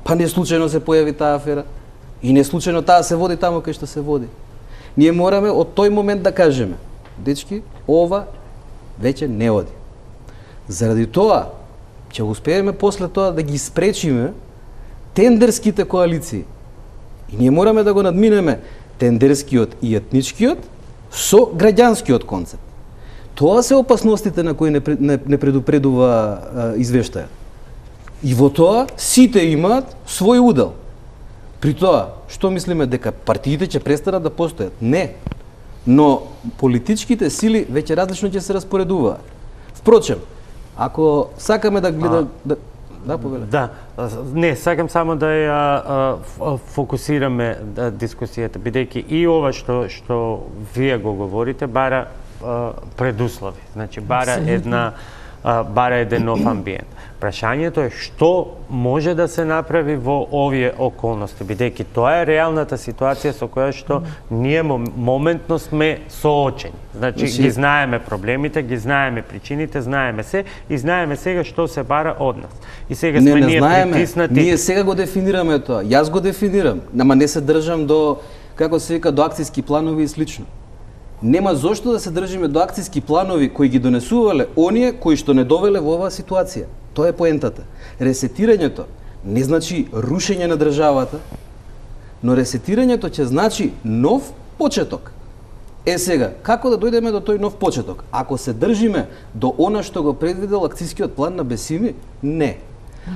Па не случајно се појави таа афера и не случајно таа се води таму кај што се води. Ние мораме од тој момент да кажеме, дечки, ова веќе не оди. Заради тоа ќе успееме после тоа да ги спречиме тендерските коалиции. И ние мораме да го надминеме тендерскиот и етничкиот со граѓанскиот концепт. Тоа се опасностите на кои не предупредува извештајот. И во тоа сите имаат свој удел. При тоа, што мислиме дека партиите ќе престанат да постојат? Не. Но политичките сили веќе различно ќе се распоредуваат. Впрочем, ако сакаме да гледаме... Да, не, сакам само да ја фокусираме дискусијата, бидејќи и ова што вие го говорите бара предуслови, значи бара еден нов амбиент. Прашањето е што може да се направи во овие околности, бидејќи тоа е реалната ситуација со која што ние моментно сме соочени. Значи ги знаеме проблемите, ги знаеме причините, знаеме се и знаеме сега што се бара од нас. И сега сме ние притиснати. Ние сега го дефинираме тоа. Јас го дефинирам, ама не се држам до, како се вика, до акцијски планови и слично. Нема зошто да се држиме до акцијски планови кои ги донесувале оние кои што не довеле во оваа ситуација. Тоа е поентата. Ресетирањето не значи рушење на државата, но ресетирањето ќе значи нов почеток. Сега, како да дојдеме до тој нов почеток? Ако се држиме до она што го предвидел акцијскиот план на Бесими, не.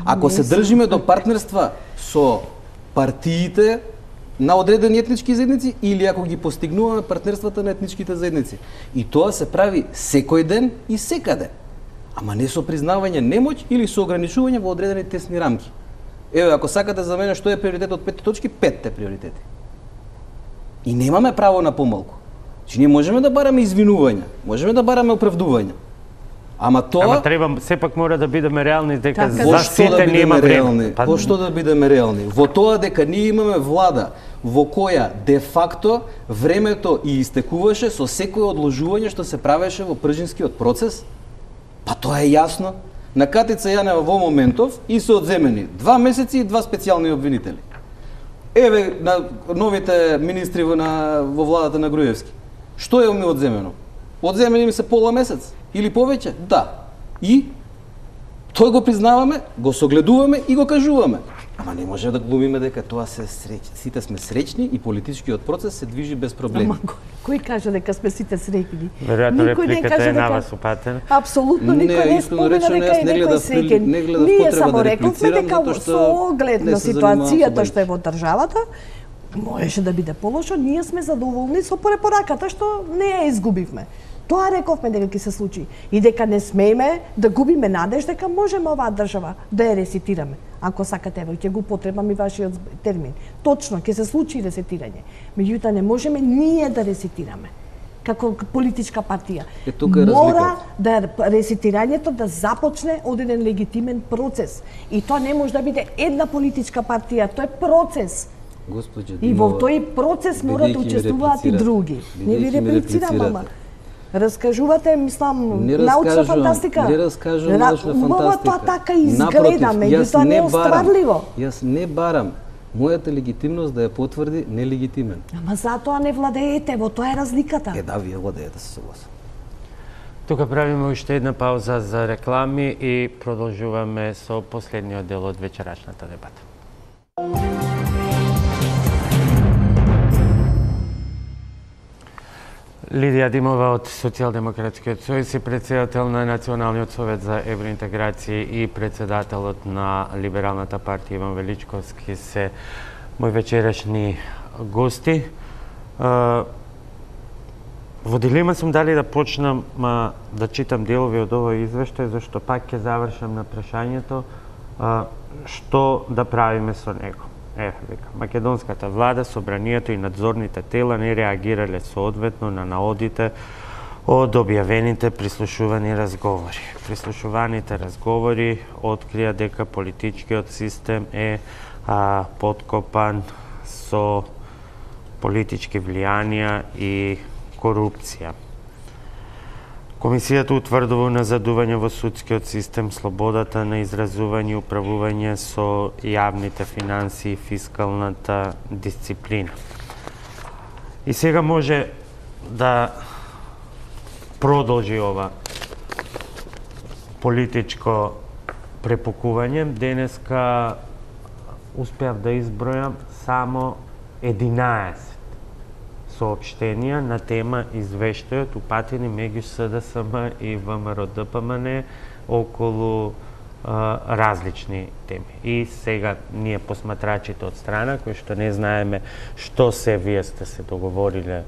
Ако се држиме до партнерства со партиите на одредени етнички заедници или ако ги постигнуваме партнерствата на етничките заедници. И тоа се прави секој ден и секаде. Ама не со признавање немоќ или со ограничување во одредени тесни рамки. Еве, ако сакате за мене што е приоритет од 5 точки, 5 приоритети. И немаме право на помалку. Че ние можеме да бараме извинувања, можеме да бараме оправдувања. Ама тоа... Ама треба, сепак мора да бидеме реални, дека за сите нема време. Во што да бидеме реални? Во тоа дека ние имаме влада во која де факто времето и истекуваше со секој одложување што се правеше во пржинскиот процес? Па тоа е јасно. На Катица Јанева во моментов и се одземени 2 месеци и 2 специјални обвинители. Еве на новите министри во владата на Груевски. Што е ми одземено? Одземени ми се пола месец или повеќе? Да. И тоа го признаваме, го согледуваме и го кажуваме. Ама не може да глумиме дека тоа се сите сме среќни и политичкиот процес се движи без проблеми. Ама кој кажа дека сме сите среќни? Веројатно репликата е на вас упатена. Апсолутно никој не спомена дека е некој среќен. Ние само рековме дека со оглед на ситуацијата што е во државата, можеше да биде полошо, ние сме задоволни со препораката што не ја изгубивме. Тоа рековме дека ќе се случи и дека не смееме да губиме надеж дека можеме оваа држава да ја ресетираме. Ако сакате, ево ќе го потребам и вашиот термин. Точно ќе се случи ресетирање. Меѓутоа не можеме ние да ресетираме како политичка партија. Мора да ресетирањето да започне од еден легитимен процес. И тоа не може да биде една политичка партија, тоа е процес. И во тој процес мора да учествуваат и други. Не ви реплицирам, ама раскажувате, мислам, научна фантастика. Не раскажувам научна фантастика. Тоа така изгледа, меѓутоа не е остварливо. Јас не барам мојата легитимност да ја потврди нелегитимен. Ама затоа не владеете, во тоа е разликата. Да, вие владеете, се согласам. Тука правиме уште една пауза за реклами и продолжуваме со последниот дел од вечерашната дебата. Лидија Димова од Социјалдемократскиот сојуз и председател на Националниот совет за евроинтеграција и председателот на Либералната партија Иван Величковски се мои вечерашни гости. Во дилема сум дали да почнам да читам делови од овој извештај, зашто пак ќе завршам на прашањето што да правиме со него. Македонската влада, собранието и надзорните тела не реагирале соодветно на наодите од објавените прислушувани разговори. Прислушуваните разговори открија дека политичкиот систем е подкопан со политички влијанија и корупција. Комисијата утврдува назадување во судскиот систем, слободата на изразување и управување со јавните финанси и фискалната дисциплина. И сега може да продолжи ова политичко препукување. Денеска успеав да избројам само 11 соопштенија на тема извештајот упатени меѓу СДСМ и ВМРО-ДПМН околу различни теми. И сега ние посматрачите од страна, кои што не знаеме што се вие сте се договориле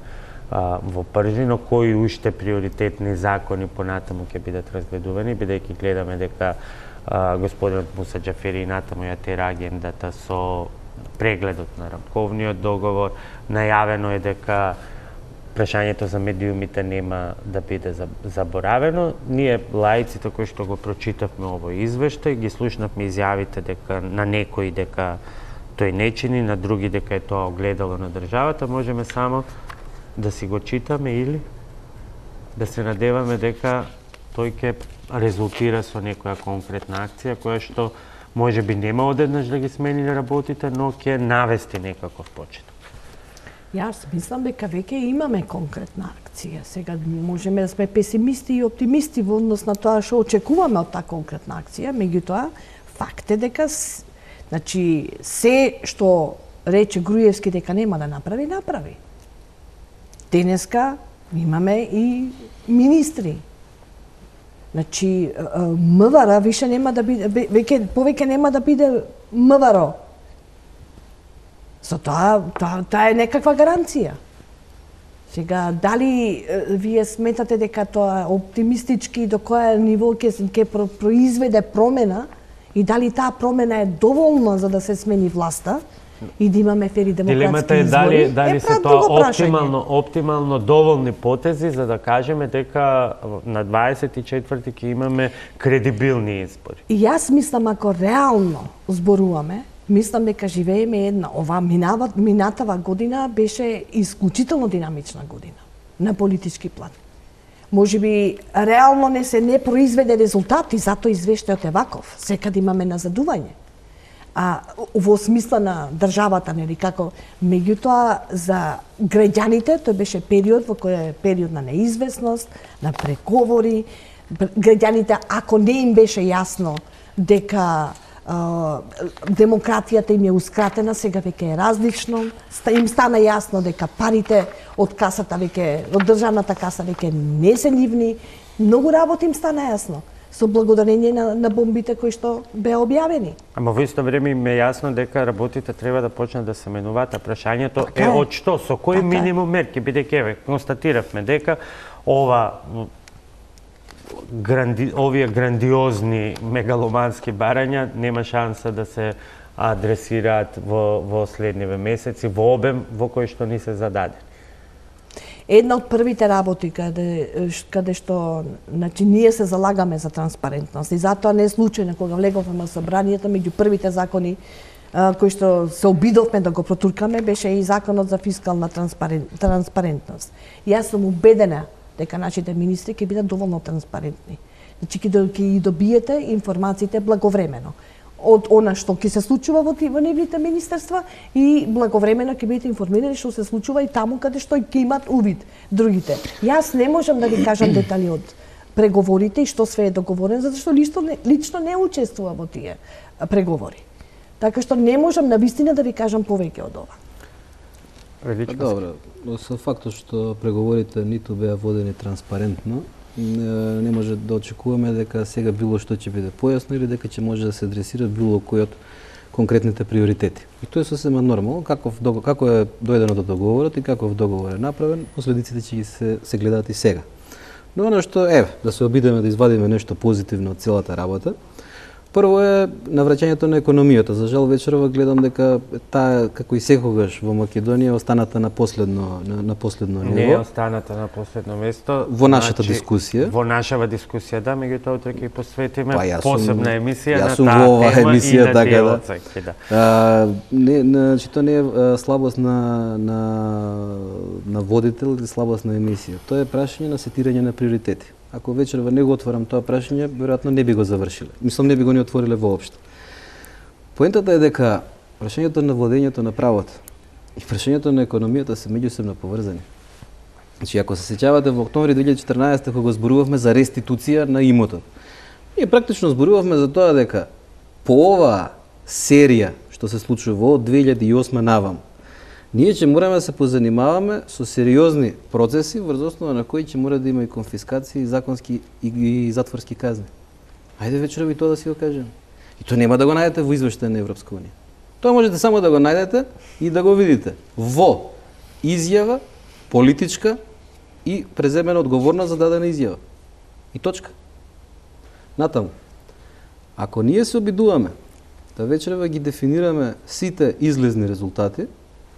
во Пржино, кои уште приоритетни закони понатаму ќе бидат разгледувани, бидејќи гледаме дека господинот Муса Џафери натаму ја тера агендата со прегледот на рамковниот договор. Најавено е дека прашањето за медиумите нема да биде заборавено. Ние, лаиците кои што го прочитавме овој извештај, ги слушнавме изјавите дека на некои дека тој не чини, на други дека е тоа огледало на државата, можеме само да си го читаме или да се надеваме дека тој ќе резултира со некоја конкретна акција која што може би нема одеднаш да ги смени работите, но ќе навести некаков почеток. Јас мислам дека веќе имаме конкретна акција. Сега можеме да сме песимисти и оптимисти во однос на тоа што очекуваме од таа конкретна акција, меѓутоа факт е дека значи се што рече Груевски дека нема да направи, направи. Денеска имаме и министри. Значи МВР више нема да биде повеќе нема да биде МВР. За тоа е некаква гаранција. Сега, дали вие сметате дека тоа е оптимистички до која ниво ќе произведе промена и дали таа промена е доволна за да се смени власта, и да имаме фери демократски Дилемата е избори. дали се тоа оптимално доволни потези за да кажеме дека на 24-ти ќе имаме кредибилни избори. И јас мислам, ако реално зборуваме, мислам дека живееме една, минатава година беше исклучително динамична година на политички план. Може би реално не произведе резултати, затоа извештајот е ваков. Секаде имаме назадување. А во смисла на државата, нели, како меѓутоа за граѓаните тој беше период во кој е период на неизвестност, на преговори. Граѓаните, ако не им беше јасно дека демократијата им е ускратена, сега веќе е различно. Им стана јасно дека парите од касата веќе, од државната каса веќе не се нивни. Многу работи им стана јасно со благодарение на бомбите кои што беа објавени. Ама во исто време им е јасно дека работите треба да почнат да се менуваат, а прашањето е од што, со кои минимум мерки, бидејќи констатиравме дека овие грандиозни мегаломански барања нема шанса да се адресираат во следниве месеци во обем во кој што ни се зададени. Една од првите работи каде што значи ние се залагаме за транспарентност и затоа не е случајно кога влеговме на собранието, меѓу првите закони кои што се обидовме да го протуркаме беше и законот за фискална транспарентност. Јас сум убедена дека нашите министри ќе бидат доволно транспарентни. Значи ќе добиете информациите благовремено од она што ќе се случува во нивните министерства и благовремено ќе бидете информирани што се случува и таму каде што ќе имат увид другите. Јас не можам да ви кажам детали од преговорите и што све е договорено, затоа што лично не учествува во тие преговори. Така што не можам навистина да ви кажам повеќе од ова. Добро, со фактот што преговорите ниту беа водени транспарентно, не може да очекуваме дека сега било што ќе биде појасно или дека ќе може да се адресира било кој од конкретните приоритети. И тоа е сосема нормално, како е дојдено до договорот и каков договор е направен, последиците ќе се гледаат и сега. Но оно што да се обидеме да извадиме нешто позитивно од целата работа. Прво е навраќањето на економијата. За жал вечерва гледам дека таа како и секогаш во Македонија останата на последно ниво. Не е останата на последно место. Во нашата дискусија. Во нашава дискусија, да, меѓутоа утре ќе посветиме посебна емисија на таа тема. Јас сум во оваа емисија, и така да. Значи тоа не е слабост на водител или слабост на емисија. Тоа е прашање на сетирање на приоритети. Ако вечерва не го отворам тоа прашање, веројатно не би го завршиле. Мислам, не би го ни отвориле воопшто. Поентата е дека прашањето на владењето на правото и прашањето на економијата се меѓусебно поврзани. Значи, ако се сеќавате во октомври 2014 кога зборувавме за реституција на имотот, ние практично зборувавме за тоа дека по оваа серија што се случува од 2008 навам, ние ќе мораме да се позанимаваме со сериозни процеси врз основа на кои ќе мора да има и конфискации, законски и затворски казни. Ајде вечерва и тоа да си го кажем. И тоа нема да го најдете во извештај на Европска унија. Тоа можете само да го најдете и да го видите во изјава политичка и преземена одговорност за дадена изјава. И точка. Натаму. Ако ние се обидуваме да вечерва ги дефинираме сите излезни резултати,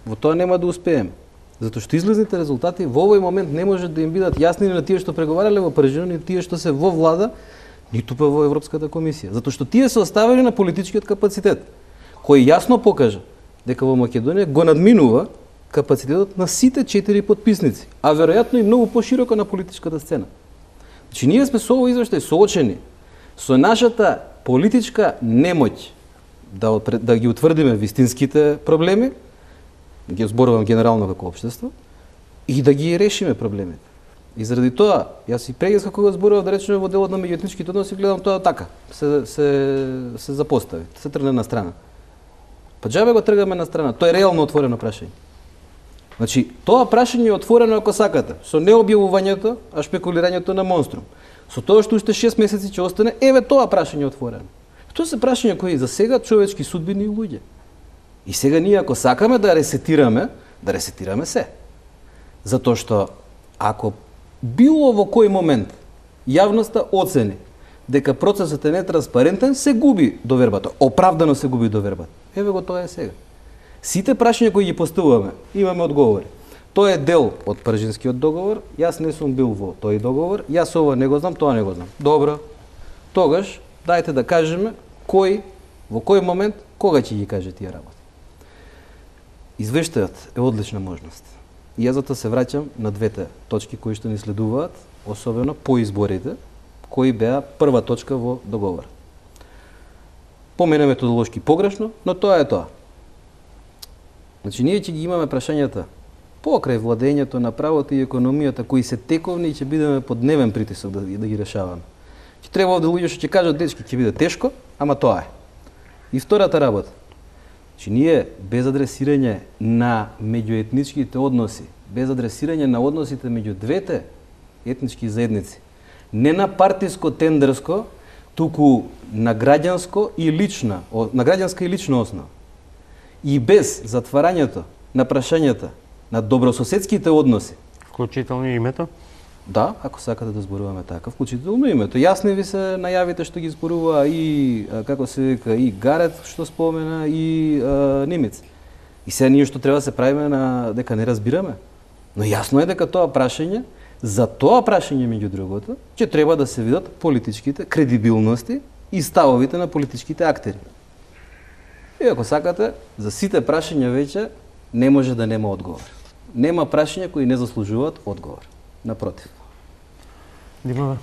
во тоа нема да успееме. Затоа што излезните резултати во овој момент не може да им бидат јасни на тие што преговарале во Парижано, ни тие што се во влада, ниту па во Европската комисија. Затоа што тие се оставени на политичкиот капацитет, кој јасно покажа дека во Македонија го надминува капацитетот на сите 4 подписници, а веројатно и многу пошироко на политичката сцена. Значи ние сме со овој извештај соочени со нашата политичка немоќ да ги утврдиме вистинските проблеми, ги зборувам генерално како општество, и да ги решиме проблемите. И заради тоа, јас и прегеска кога зборував да речеме во делот на меѓуетничките односи, гледам тоа така, се запостави, се тргне на страна. Па џабе го тргаме на страна, тоа е реално отворено прашање. Значи, тоа прашање е отворено ако сакате, со необјавувањето, а шпекулирањето на монструм. Со тоа што уште 6 месеци ќе остане, тоа прашање е отворено. Тоа се прашања кои за сега човечки судбини и луѓе. И сега ние ако сакаме да ресетираме се. Затоа што ако било во кој момент јавноста оцени дека процесот е нетранспарентен, се губи довербата. Оправдано се губи довербата. Еве го тоа е сега. Сите прашања кои ги поставуваме, имаме одговори. Тој е дел од Пржинскиот договор, јас не сум бил во тој договор, јас ова не го знам, тоа не го знам. Добро, тогаш, дајте да кажеме кој, во кој момент, кога ќе ги каже тие работи. Извештајот е одлична можност. И јас затоа се враќам на двете точки кои што ни следуваат, особено по изборите, кои беа прва точка во договор. По мене методолошки погрешно, но тоа е тоа. Значи, ние ќе ги имаме прашањата покрај владењето на правото и економијата, кои се тековни и ќе бидеме под дневен притисок да ги решаваме. Ќе треба овде луѓе што ќе кажат, дечки, ќе биде тешко, ама тоа е. И втората работа. Значи, ние без адресирање на меѓуетничките односи, без адресирање на односите меѓу двете етнички заедници, не на партиско тендерско, туку на граѓанска и лична основа. И без затварањето на прашањата на добрососедските односи. Вклучително името? Да, ако сакате да зборуваме така, вклучително името. Јасни ви се најавите што ги зборува и, како се вика, и Гарет што спомена, и Немец. И сега ние што треба да се правиме на дека не разбираме. Но јасно е дека тоа прашање, за тоа прашање меѓу другото, ќе треба да се видат политичките кредибилности и ставовите на политичките актери. И ако сакате, за сите прашања веќе не може да нема одговор. Нема прашања кои не заслужуваат одговор. Напротив. Димова?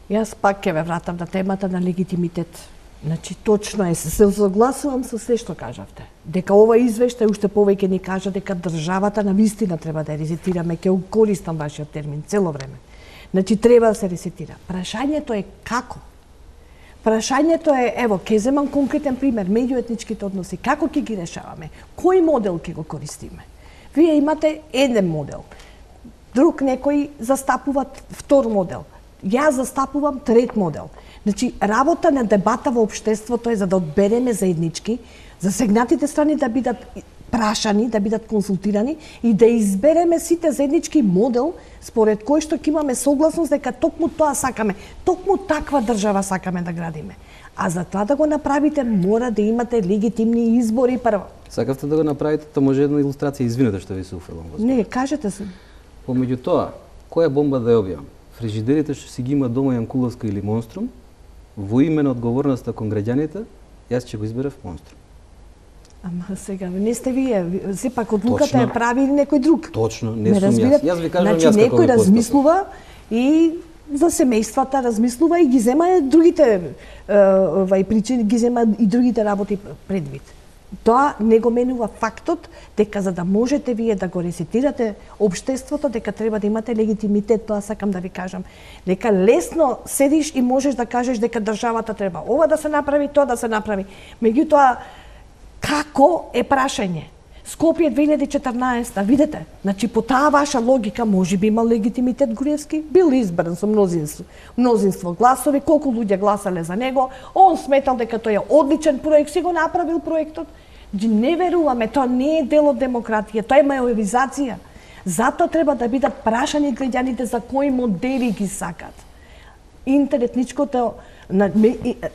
Јас пак ќе ве вратам на темата на легитимитет. Значи, точно е, се согласувам со се што кажавте. Дека ова извештај уште повеќе ни кажа дека државата на вистина треба да ресетираме, ќе користам вашиот термин цело време. Значи, треба да се ресетира. Прашањето е како? Прашањето е, ево, ќе земам конкретен пример, меѓуетничките односи, како ќе ги решаваме? Кој модел ќе го користиме? Вие имате еден модел, друг некој застапува втор модел. Јас застапувам трет модел. Значи, работа на дебата во општеството е за да одбереме заеднички, засегнатите страни да бидат прашани, да бидат консултирани и да избереме сите заеднички модел според кој што ќе имаме согласност дека токму тоа сакаме, токму таква држава сакаме да градиме. А за тоа да го направите, мора да имате легитимни избори прво. Сакавте да го направите, тоа може една илустрација, извинете што ви се уфрлам. Не, кажете се. Помеѓу тоа, која бомба да ја објавам? Фрижидерите што си ги има дома Јанкуловска или Монструм, во име на одговорноста кон граѓаните, јас ќе го изберев Монструм. Ама сега, не сте вие, сепак одлуката ја прави некој друг. Точно, не сум јас. Јас ви кажам, значи, јас како некој размислува и за семејствата размислува и ги зема другите причини, ги зема и другите работи предвид. Тоа не го менува фактот дека за да можете вие да го ресетирате општеството, дека треба да имате легитимитет, тоа сакам да ви кажам. Дека лесно седиш и можеш да кажеш дека државата треба ова да се направи, тоа да се направи. Меѓутоа, како е прашање? Скопје 2014, видете, значи по таа ваша логика можеби има легитимитет Груевски, бил избран со мнозинство гласови, колку луѓе гласале за него, он сметал дека тој е одличен проект, си го направил проектот. Не веруваме, тоа не е дел од демократија, тоа е мајоризација. Затоа треба да бидат прашани граѓаните за кои модели ги сакат. Интеретничкото,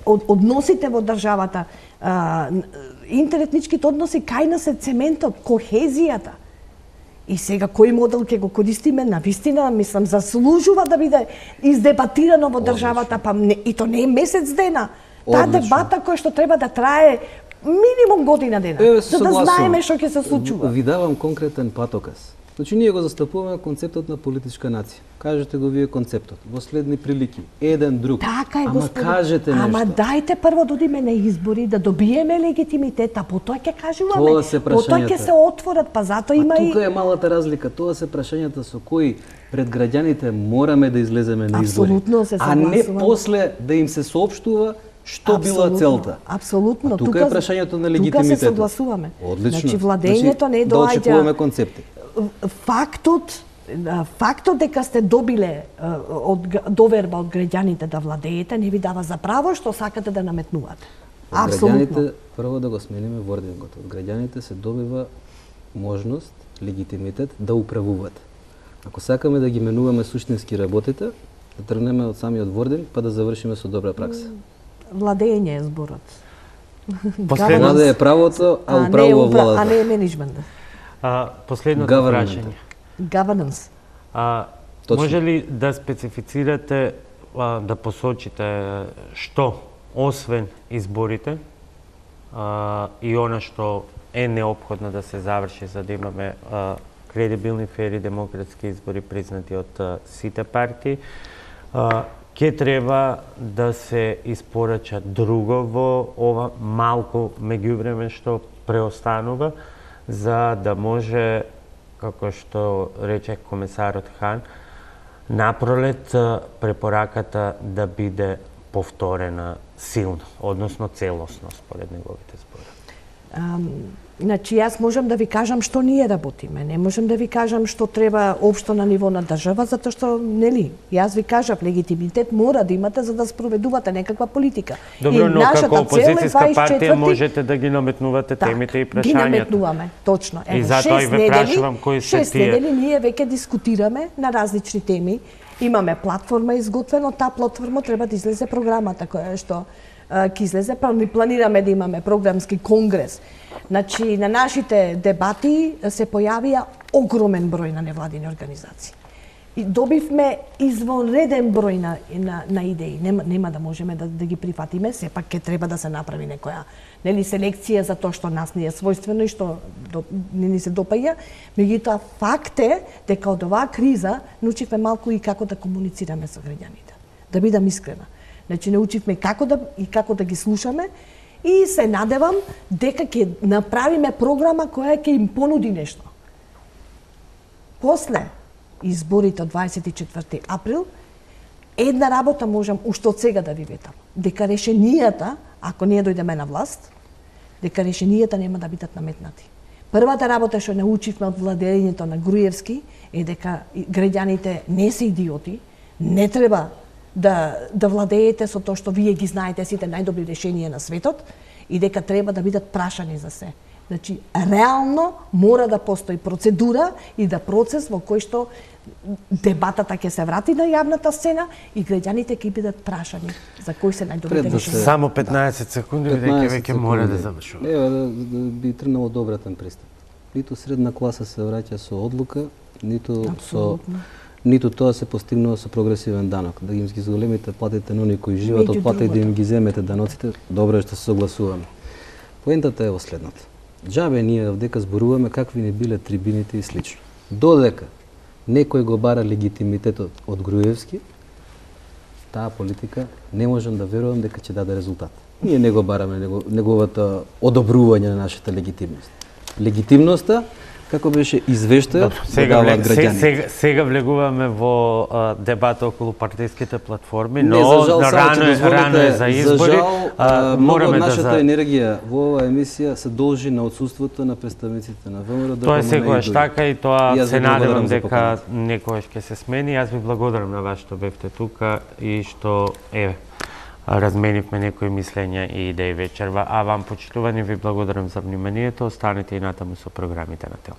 односите во државата, интеретничките односи кај нас е цементот, кохезијата. И сега кој модел ќе го користиме, навистина, мислам, заслужува да биде издебатирано во државата, па не, и то не е месец дена. Таа дебата која што треба да трае минимум година дена, за да знаеме што ќе се случува. Ви давам конкретен патоказ. Значи, ние го застапуваме концептот на политичка нација. Кажете го вие концептот. Во следни прилики, еден друг. Така е, Ама кажете нешто. Ама дајте прво да одиме на избори, да добиеме легитимитет, а потоа ќе кажуваме. Тоа се прашањата. Потоа ќе се отворат, па затоа има и... Тука е малата разлика. Тоа се прашањата со кои пред граѓаните мораме да излеземе на избори. Апсолутно се согласувам. А не после да им се соопштува што била целта. Апсолутно. Тука е прашањето на легитимитетот. Тука се согласуваме. Одлично. Значи, владењето не доаѓа... Да очекуваме концепти. Фактот дека сте добиле доверба од граѓаните да владеете не ви дава за право што сакате да наметнувате. Апсолутно. Граѓаните, прво да го смениме вордингот. Од граѓаните се добива можност, легитимитет да управуваат. Ако сакаме да ги менуваме суштински работите, да тргнеме од самиот вординг, па да завршиме со добра пракса. Владење е зборот. Влада е правото, а управува владата. А не е менеджмент. Последното прашање. Governance. Може ли да специфицирате, да посочите што, освен изборите, и она што е неопходно да се заврши за да имаме кредибилни, фери, демократски избори признати од сите партии, ќе треба да се испорача друго во ова малку меѓувреме што преостанува, за да може, како што рече комесарот Хан, напролет препораката да биде повторена силно, односно целосно според неговите зборови. Значи, јас можам да ви кажам што ние работиме. Не можам да ви кажам што треба општо на ниво на држава, затоа што, нели, јас ви кажав, легитимитет мора да имате за да спроведувате некаква политика. Добро, но како опозицијска партија можете да ги наметнувате темите и прашањата. Ги наметнуваме, точно. И затоа и ве прашувам кои се тие. 6 недели ние веќе дискутираме на различни теми. Имаме платформа изготвена, таа платформа треба да излезе програмата која што ќе излезе, планираме да имаме програмски конгрес. Значи, на нашите дебати се појавија огромен број на невладини организации. И добивме извонреден број на идеи. Нема да можеме да ги прифатиме, сепак ќе треба да се направи некоја селекција за тоа што нас не е својствено и што не ни се допаѓа. Меѓутоа, факт е дека од оваа криза научивме малку и како да комуницираме со граѓаните. Да бидам искрена. Значи, научивме како да ги слушаме и се надевам дека ќе направиме програма која ќе им понуди нешто. После изборите од 24 април, една работа можам уште од сега да ви ветам. Дека решенијата, ако ние дојдеме на власт, дека решенијата нема да бидат наметнати. Првата работа што научивме од владењето на Груевски е дека граѓаните не се идиоти, не треба да владеете со тоа што вие ги знаете сите најдобри решенија на светот и дека треба да бидат прашани за се. Значи, реално мора да постои процедура и да процес во кој што дебатата ќе се врати на јавната сцена и граѓаните ќе бидат прашани за кои се најдобрите решенија. Само 15 секунди, бидејќи веќе мора да завршува. Ева, би тргнал од обратен пристап. Ниту средна класа се враќа со одлука, ниту тоа се постигнува со прогресивен данок. Да им ги зголемите платите на оние кои живеат од плата и да им ги земете даноците, добро е што се согласуваме. Поентата е во следната. Џабе ние овдека зборуваме какви не биле трибините и слично. Додека некој го бара легитимитетот од Груевски, таа политика не можам да верувам дека ќе даде резултат. Ние не го бараме неговата одобрување на нашата легитимност. Легитимноста, како беше извештајот, даваат граѓани. Сега влегуваме во дебата околу партиските платформи, но рано е за избори. Много од нашата енергија во оваа емисија се должи на отсуството на представниците на ВМРО. Тоа е секогаш така и тоа се надевам дека некогаш ќе се смени. Јас ви благодарам на вас што бевте тука и што разменивме некои мислења и идеи вечерва. А вам, почитувани, ви благодарам за вниманието. Останете и натаму со програмите на ТЕЛ.